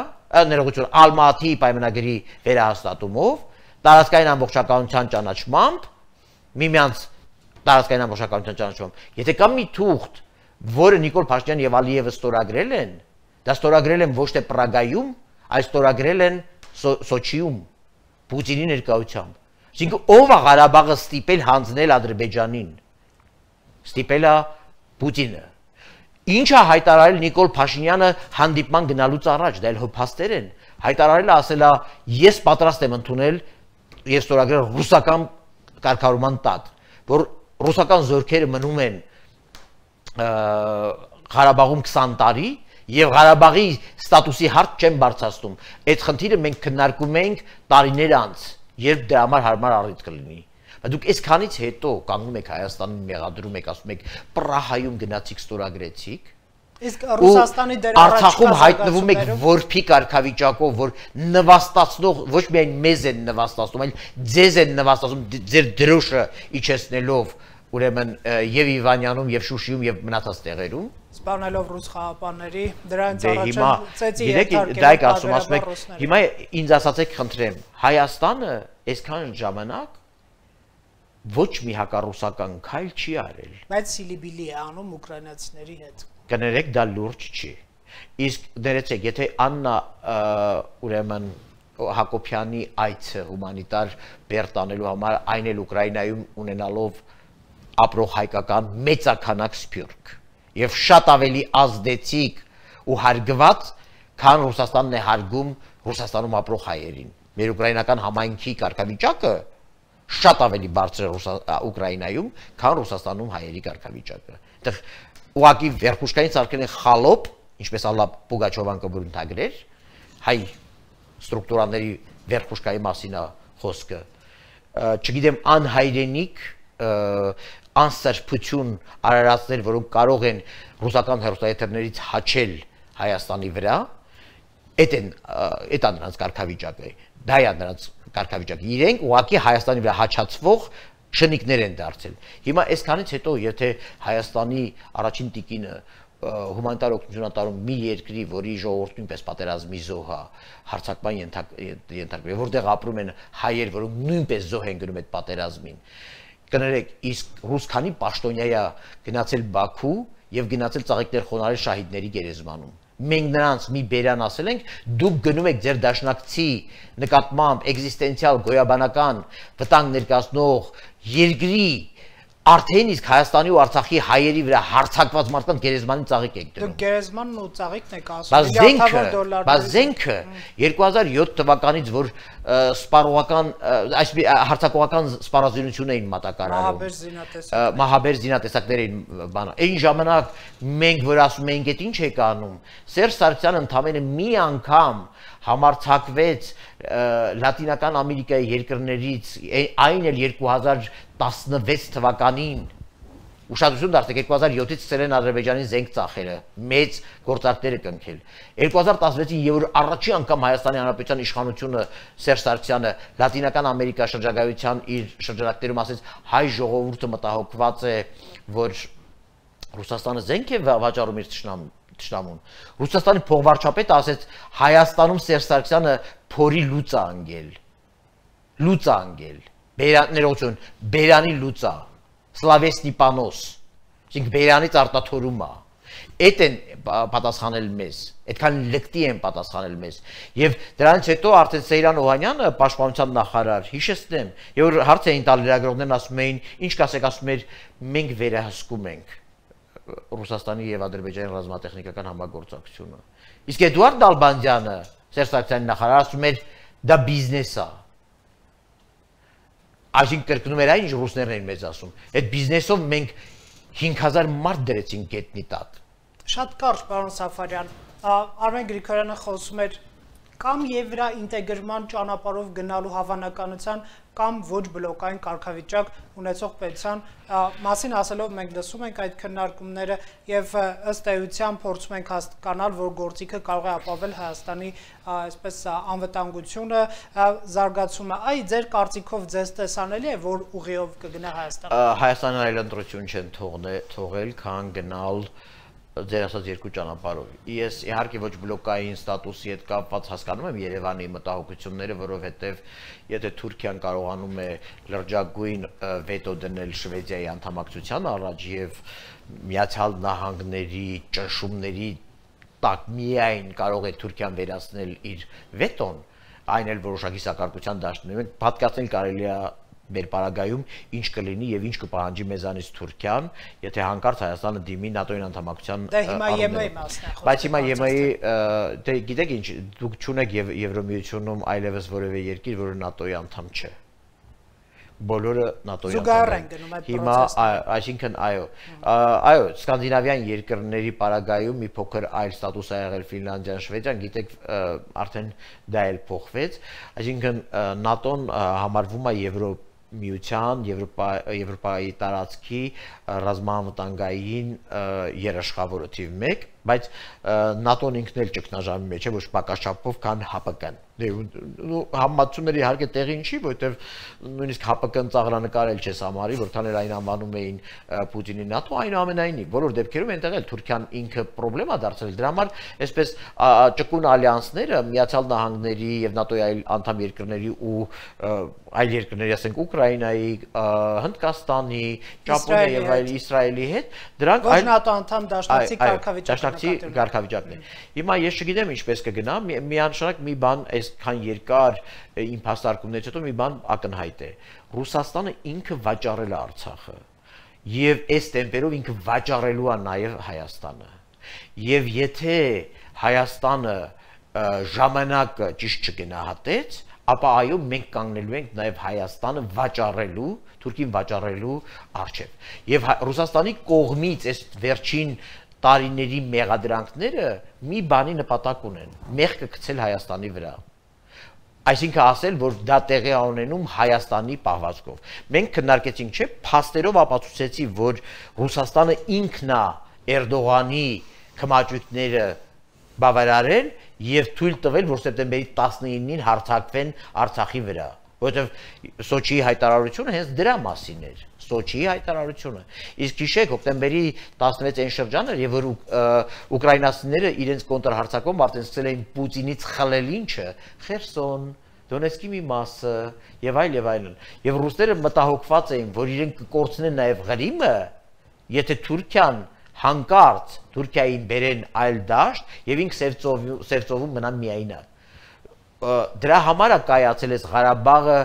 ներողություն, Ալմատիի պայմանագրի վերահաստատումով, տարածքային ամբողջականության ճանաչմամբ, միմյանց տարածքային ամբողջականության ճանաչմամբ։ Եթե կա մի թուղթ, որը Նիկոլ Փաշինյանը եւ Ալիևը ստորագրել են, դա ստորագրել են ոչ թե Պրագայում, այլ ստորագրել են Սոչիում, Պուտինի ներկայությամբ։ Այսինքն ով է Ղարաբաղը ստիպել հանձնել Ադրբեջանին։ Ստիպել է Պուտինը։ Ինչ է հայտարարել Նիկոլ Փաշինյանը հանդիպման գնալուց առաջ, դա էլ հոփաստեր են։ Հայտարարել է, ասել է, ես պատրաստ եմ ընդունել եւ ստորագրել ռուսական կարգավորման տակ, որ ռուսական զորքերը մնում են Ղարաբաղում քսան տարի եւ Ղարաբաղի ստատուսի հարց չեն բարձրացնում։ Այդ խնդիրը մենք քննարկում ենք տարիներ անց, երբ դրա համար հարմար առիթ կլինի։ Բայց դուք այսքանից հետո կանգնում եք Հայաստանին մեղադրում եք, ասում եք Պրահայում գնացիք ստորագրեցիք, Իսկ Ռուսաստանի դեր Արցախում հայտնվում եք որփի կարգավիճակով, որ նվաստացնող ոչ միայն մեզ են նվաստացնում, այլ ձեզ են նվաստացնում ձեր դրոշը իջեցնելով, ուրեմն եւ Իվանյանում եւ Շուշիում եւ մնացած տեղերում, սպանելով ռուս խաղապանների, դրանից առաջ ծեծի երթարկել ասում ասում եք, հիմա ինձ ասացեք խնդրեմ, Հայաստանը այսքան ժամանակ ոչ մի հակառուսական քայլ չի արել։ Բայց սիլիբիլի է անում ուկրաինացիների հետ։ Կներեք, դա լուրջ չի։ Իսկ դերեցեք, եթե Աննա ուրեմն Հակոբյանի այցը հումանիտար բեռ տանելու համար այն էլ Ուկրաինայում ունենալով ապրող հայկական մեծականակ սփյուռք եւ շատ ավելի ազդեցիկ ու հարգված, քան Ռուսաստանն է հարգում Ռուսաստանում ապրող հայերին։ Մեր ուկրաինական համայնքի կարգավիճակը շատ ավելի բարձր է Ուկրաինայում, քան Ռուսաստանում հայերի կարգավիճակը։ Այդտեղ ուղղակի վերխուշկային սարքերն խալոպ, ինչպես Ալլա Պուգաչովան կբրունթագրեր, հայ ստրուկտուրաների վերխուշկայի մասին է խոսքը, չգիտեմ, անհայրենիք, անսրբություն արարածներ, որոնք կարող են ռուսական հեռուստաեթերներից հաչել Հայաստանի վրա, այդ են, այդ է նրանց կարգավիճակը, դա է նրանց կարգավիճակը, իրենք ուղղակի Հայաստանի վրա հաչացվող շնիկներ են դարձել։ Հիմա այսքանից հետո, եթե Հայաստանի առաջին տիկինը հումանիտար օգնություն ատարում մի երկրի, որի ժողովուրդը նույնպես պատերազմի զոհ է, հարձակման ենթարկվում, որտեղ ապրում են հայեր, որոնք նույնպես զոհ են գնում այդ պատերազմին, կներեք, իսկ ռուս քանի պաշտոնյա է գնացել Բաքու եւ գնացել ծաղիկներ խոնարհել շահիդների գերեզմանում։ Մենք նրանց մի բերան ասել ենք, դուք գնում եք ձեր դաշնակցի նկատմամբ էգզիստենցիալ գոյաբանական վտանգ ներկայացնող երկրի արդեն իսկ Հայաստանի ու Արցախի հայերի վրա հարձակված մարդկանց գերեզմանին ծաղիկ եք դնում։ Դուք գերեզմանն ու ծաղիկն եք ասում միլիարդավոր դոլարներ։ Բայց զենքը երկու հազար յոթ թվականից, որ սպառողական, այսպես հարձակողական սպառազինություն էին մատակարարում։ Մահաբեր զինատեսակներ էին բանը։ Այն ժամանակ մենք որ ասում էինք, այդ ինչ եք անում, Սերժ Սարգսյանը ընդամենը մի անգամ համարձակվեց Լատինական Ամերիկայի երկրներից, այն էլ երկու հազար տասնվեց թվականին, ուշադրություն դարձեք, երկու հազար յոթից սկսել են Ադրբեջանին զենք ծախելը, մեծ գործարքներ է կնքել։ երկու հազար տասնվեցին եւ առաջին անգամ Հայաստանի Հանրապետության իշխանությունը Սերժ Սարգսյանը Լատինական Ամերիկա շրջագայության իր շրջանակներում ասեց, հայ ժողովուրդը մտահոգված է, որ Ռուսաստանը զենք է վաճառում իր թշնամուն։ Ռուսաստանի փոխվարչապետը ասեց, Հայաստանում Սերժ Սարգսյանը փորի լուծա անգել։ Լուծա անգել։ Բերաներություն, բերանի լուծա, Սլավեսնի պանոս, այսինքն բերանից արտաթորում է։ Այդ են պատասխանել մեզ, այդքան լկտի են պատասխանել մեզ։ Եվ դրանից հետո արդեն Սեյրան Օհանյանը, պաշտպանության նախարար, հիշեցնեմ, եւ որ հարց էին տալ լրագրողներն, ասում էին, ինչ կասեք, ասում էր, մենք վերահսկում ենք Ռուսաստանի եւ Ադրբեջանի ռազմատեխնիկական համագործակցությունը։ Իսկ Էդուարդ Դալբանդյանը, Սերժ Սարգսյանի նախարարը, ասում էր, դա բիզնես է։ Այսինքն կրկնում էր այն, ինչ ռուսներն էին մեզ ասում։ Այդ բիզնեսով մենք հինգ հազար մարդ դրեցինք գետնի տակ։ Շատ կարճ, պարոն Սաֆարյան, Արմեն Գրիգորյանը խոսում էր կամ Եվրա ինտեգրման ճանապարհով գնալու հավանականության կամ ոչ բլոկային կարգավիճակ ունեցող պետության մասին ասելով մենք լսում ենք այդ քննարկումները եւ ըստ էության փորձում ենք հասկանալ, որ գործիքը կարող է ապավել Հայաստանի այսպես անվտանգությունը, զարգացումը։ Այ ձեր կարծիքով ձեզ տեսանելի է, որ ուղիով կգնա Հայաստան։ Հայաստանը այլ ընտրություն չեն թողել, քան գնալ ձեր ասած երկու ճանապարհով։ Ես իհարկե ոչ բլոկային ստատուսի հետ կապված հասկանում եմ Երևանի մտահոգությունները, որովհետև եթե Թուրքիան կարողանում է լրջագույն վետո դնել Շվեդիայի անդամակցության առաջ եւ Միացյալ Նահանգների ճնշումների տակ միայն կարող է Թուրքիան վերացնել իր վետոն, այն էլ որոշակի սակարկության դաշտում է, պատկացնել կարելի է մեր պարագայում ինչ կլինի եւ ինչ կպահանջի մեզանից Թուրքիան, եթե հանկարծ Հայաստանը դիմի ՆԱՏՕ-ին անդամակցության առումով։ Բայց հիմա ԵՄ-ի, դե գիտեք ինչ, դուք չունեք Եվրոմիությունում այլևս որևէ երկիր, որը ՆԱՏՕ-ի անդամ չէ։ Բոլորը ՆԱՏՕ-ի անդամ են։ Հիմա, այսինքն այո, այո, սկանդինավյան երկրների պարագայում մի փոքր այլ ստատուս է եղել Ֆինլանդիան, Շվեդիան, գիտեք, արդեն դա էլ փոխվեց, այսինքն ՆԱՏՕ-ն համարվում է Եվրո միության Եվրոպայի տարածքի ռազմավտանգային երաշխավորը թիվ մեկ, բայց ՆԱՏՕ-ն ինքն էլ ճգնաժամի մեջ է, ոչ պակաս չափով, քան ՀԱՊԿ-ն։ Համացումների իհարկե տեղին չի, որովհետև նույնիսկ ՀԱՊԿ-ն ծաղրանկարել չես համարի, որքան էլ այն անվանում էին Պուտինի ՆԱՏՕ, այնուամենայնիվ բոլոր դեպքերում այնտեղ էլ Թուրքիան ինքը պրոբլեմ է դարձել։ Դրա համար այսպես ճկուն ալյանսները Միացյալ Նահանգների եւ ՆԱՏՕ-ի այլ անդամ երկրների ու այլ երկրների, ասենք Ուկրաինայի, Հնդկաստանի, Ճապոնիայի եւ այլ Իսրայելի հետ, դրանք այլ ՆԱՏՕ անդամ դաշնակցի կարգավիճակն է։ Հիմա ես չգիտեմ ինչպես կգնա, միանշանակ մի բան այսքան երկար իմ փաստարկումներից հետո մի բան ակնհայտ է։ Ռուսաստանը ինքը վաճառել է Արցախը եւ այս տեմպերով ինքը վաճառելու է նաեւ Հայաստանը։ Եվ եթե Հայաստանը ժամանակը ճիշտ չգնահատեց, ապա այո մենք կանգնելու ենք նաեւ Հայաստանը վաճառելու, Թուրքին վաճառելու առջև։ Եվ Ռուսաստանի կողմից այս վերջին տարիների մեղադրանքները մի բանի նպատակ ունեն՝ մեղքը գցել Հայաստանի վրա։ Այսինքն ասել, որ դա տեղի է ունենում Հայաստանի պահվածքով։ Մենք քննարկեցինք, չէ՞, փաստերով ապացուցեցի, որ Ռուսաստանը ինքն է Էրդողանի քմաճույքները բավարարել եւ թույլ տվել, որ սեպտեմբերի տասնինին հարձակվեն Արցախի վրա, որովհետեւ Սոչիի հայտարարությունը հենց դրա մասին էր, Սոչիի հայտարարությունը։ Իսկ հիշեք, հոկտեմբերի տասնվեց այն շրջանը, եւ որ ուկրաինացիները իրենց կոնտրհարձակում արդեն սկսել էին Պուտինից խլել ինչը, Խերսոն, Դոնեցկի մի մասը եւ այլ եւ այլն։ Եվ ռուսները մտահոգված էին, որ իրենք կկորցնեն նաեւ Ղրիմը, եթե Թուրքիան հանկարծ Թուրքիային բերեն այլ դաշտ եւ ինք Սևծովում մնան միայնակ։ Դրա համար է կայացել այս Ղարաբաղը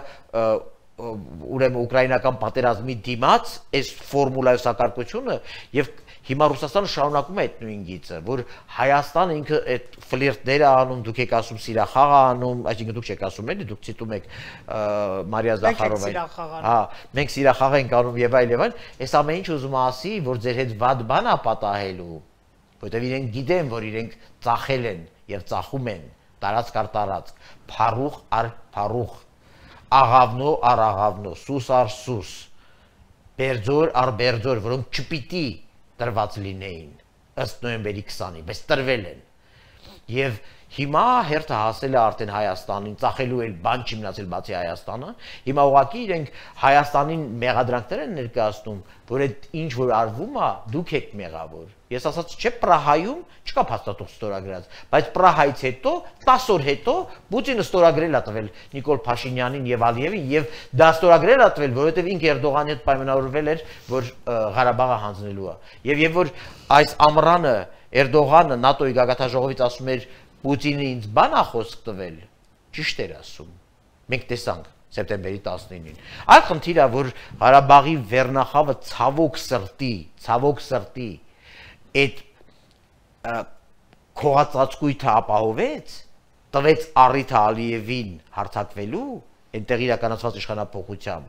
ուրեմն ուկրաինական պատերազմի դիմաց այս ֆորմուլայի սակարկությունը եւ հիմա Ռուսաստանը շարունակում է այդ նույն գիծը, որ Հայաստանը ինքը այդ ֆլիրտները անում, դուք եք ասում սիրախաղ անում, այսինքն դուք չեք ասում էլի, դուք ցիտում եք Մարիա Զախարովային։ Հա, մենք սիրախաղ ենք անում եւ այլ եւ այլ, այս ամեն ինչ ուզում ասի, որ ձեր հետ վատ բան է պատահելու, որովհետեւ իրենք գիտեն, որ իրենք ծախել են եւ ծախում են տարածք առ տարածք, փառուխ առ փառուխ, աղավնո առ աղավնո, սուս առ սուս, բերձոր առ բերձոր, որոնք չպիտի տրված լինեին ըստ նոյեմբերի քսանին, բայց տրվել են։ Եվ հիմա հերթը հասել է արդեն Հայաստանին, ծախելու էլ բան չի մնացել բացի Հայաստանը։ Հիմա ուղղակի իրենք Հայաստանին մեղադրանքներ են ներկայացնում, որ այդ ինչ որ արվում է, դուք եք մեղավոր։ Ես ասած չէ, Պրահայում չկա փաստաթուղթ ստորագրած, բայց Պրահայից հետո տասը օր հետո Պուտինը ստորագրել է տվել Նիկոլ Փաշինյանին եւ Ալիևին եւ դա ստորագրել է տվել, որովհետեւ ինքը Էրդողանի հետ պայմանավորվել էր, որ Ղարաբաղը հանձնելու է։ Եվ երբ որ այս ամռանը Էրդողանը ՆԱՏՕ-ի գագաթնաժողովից ասում էր Պուտինը ինձ բան է խոսք տվել, ճիշտ էր ասում։ Մենք տեսանք սեպտեմբերի տասնինին։ Այլ խնդիրը, որ Ղարաբաղի վերնախավը ցավոք սրտի, ցավոք սրտի այդ քողածածկույթը ապահովեց, տվեց առիթը Ալիևին հարձակվելու, այնտեղ իրականացված իշխանապողությամբ,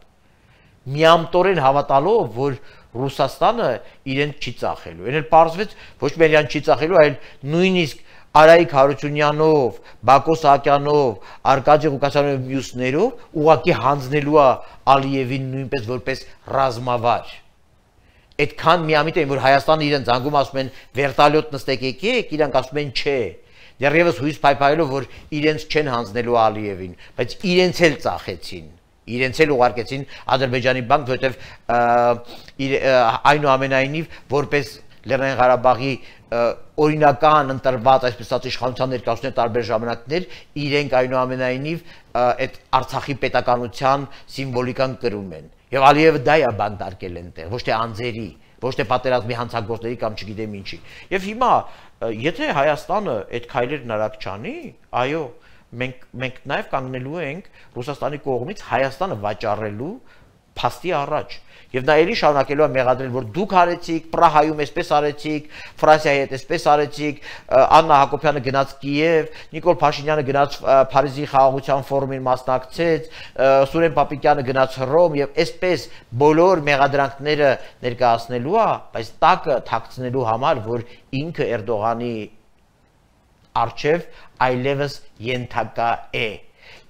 միամտորեն հավատալով, որ Ռուսաստանը իրեն չի ծախելու։ Այն էլ պարզվեց ոչ միայն իրեն չի ծախելու, այլ նույնիսկ Արայիկ Հարությունյանով, Բակո Սահակյանով, Արկադի Ղուկասյանով մյուսներով ուղղակի հանձնելու է Ալիևին նույնպես որպես ռազմավար։ Այդքան միամիտ էին, որ Հայաստանը իրեն զանգում ասում են վերտալյոտ նստեք եկեք, իրանք ասում են չէ։ Դեռևս հույս փայփայելով, որ իրենց չեն հանձնելու Ալիևին, բայց իրենց էլ ծախեցին։ Իրենց էլ ուղարկեցին Ադրբեջանի բանկ, որովհետև այնուամենայնիվ որպես Լեռնային Ղարաբաղի օրինական ընտրված այսպես ասած իշխանության ներկայացուցիչներ տարբեր ժամանակներ իրենք այնուամենայնիվ այդ Արցախի պետականության սիմվոլիկան կրում են։ Եվ Ալիևը դա է բանտարկել այնտեղ, ոչ թե անձերի, ոչ թե պատերազմի հանցագործների կամ չգիտեմ ինչի։ Եվ հիմա եթե Հայաստանը այդ քայլերն արագ չանի, այո, մենք մենք նաև կանգնելու ենք Ռուսաստանի կողմից Հայաստանը վաճառելու փաստի առաջ։ Եվ նա ելի շարունակելու է մեղադրել, որ դուք արեցիք, Պրահայում այսպես արեցիք, Ֆրանսիայի հետ այսպես արեցիք, Աննա Հակոբյանը գնաց Կիև, Նիկոլ Փաշինյանը գնաց Փարիզի խաղաղության ֆորումին մասնակցեց, Սուրեն Պապիկյանը գնաց Հռոմ եւ այսպես բոլոր մեղադրանքները ներկայացնելու է, բայց տակը թաքցնելու համար, որ ինքը Էրդողանի արչև այլևս ենթակա է։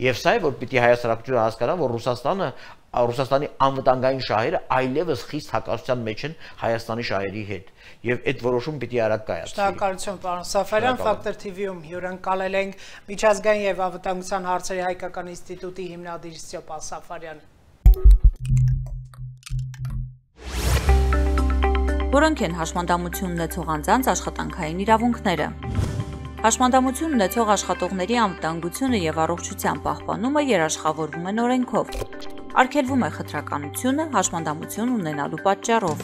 Եվ սա է, որ պիտի հայ հասարակությունը հասկանա, որ Ռուսաստանը Ռուսաստանի անվտանգային շահերը այլևս խիստ հակասության մեջ են Հայաստանի շահերի հետ եւ այդ որոշումը պիտի արագ կայացվի։ Շնորհակալություն, պարոն Սաֆարյան, Factor T V-ում հյուրընկալել ենք միջազգային եւ անվտանգության հարցերի հայկական ինստիտուտի հիմնադիր Ստեփան Սաֆարյանը։ Որոնք են հաշմանդամություն ունեցող անձանց աշխատանքային իրավունքները։ Հաշմանդամություն ունեցող աշխատողների անվտանգությունը եւ առողջության պահպանումը երաշխավորվում են օրենքով։ Արգելվում է խտրականությունը հաշմանդամություն ունենալու պատճառով։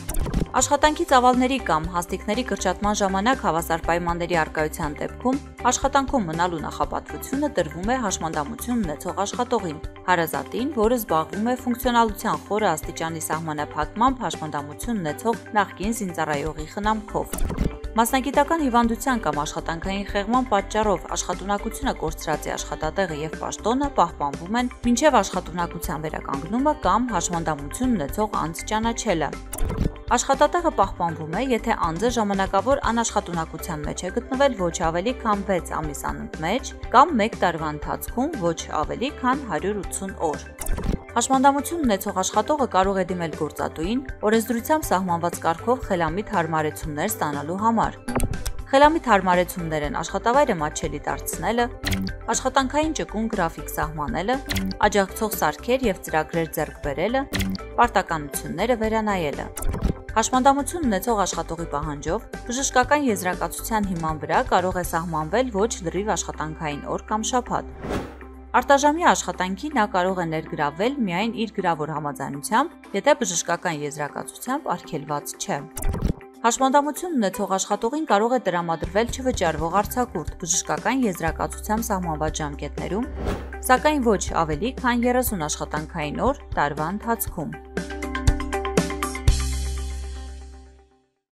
Աշխատանքի ծավալների կամ հաստիքների կրճատման ժամանակ հավասար պայմանների առկայության դեպքում աշխատանքում մնալու նախապատվությունը տրվում է հաշմանդամություն ունեցող աշխատողին, հարազատին, որը զբաղվում է ֆունկցիոնալության խորը աստիճանի սահմանափակմամբ հաշմանդամություն ունեցող նախկին զինծառայողի խնամքով։ Մասնագիտական հիվանդության կամ աշխատանքային խեղման պատճառով աշխատունակությունը կորցրած է աշխատատեղը եւ պաշտոնը պահպանվում են մինչեւ աշխատունակության վերականգնումը կամ հաշմանդամություն ունեցող անձ ճանաչելը։ Աշխատատեղը պահպանվում է, եթե անձը ժամանակավոր անաշխատունակության մեջ է գտնվել ոչ ավելի քան վեց ամիս անընդմեջ կամ մեկ տարվա ընթացքում ոչ ավելի քան հարյուր ութսուն օր։ Հաշմանդամություն ունեցող աշխատողը կարող է դիմել գործատուին օրենսդրությամբ սահմանված կարգով խելամիտ հարմարեցումներ ստանալու համար։ Խելամիտ հարմարեցումներ են աշխատավայրը մատչելի դարձնելը, աշխատանքային ճկուն գրաֆիկ սահմանելը, աջակցող սարքեր եւ ծրագրեր ձեռք բերելը, պարտականությունները վերանայելը։ Հաշմանդամություն ունեցող աշխատողի պահանջով բժշկական եզրակացության հիման վրա կարող է սահմանվել ոչ լրիվ աշխատանքային օր կամ շաբաթ։ Արտաժամյա աշխատանքի նա կարող է ներգրավել միայն իր գրավոր համաձայնությամբ, եթե բժշկական եզրակացությամբ արգելված չէ։ Հաշմանդամություն ունեցող աշխատողին կարող է տրամադրվել չվճարվող արձակուրդ բժշկական եզրակացությամբ սահմանված ժամկետներում, սակայն ոչ ավելի քան երեսուն աշխատանքային օր տարվա ընթացքում։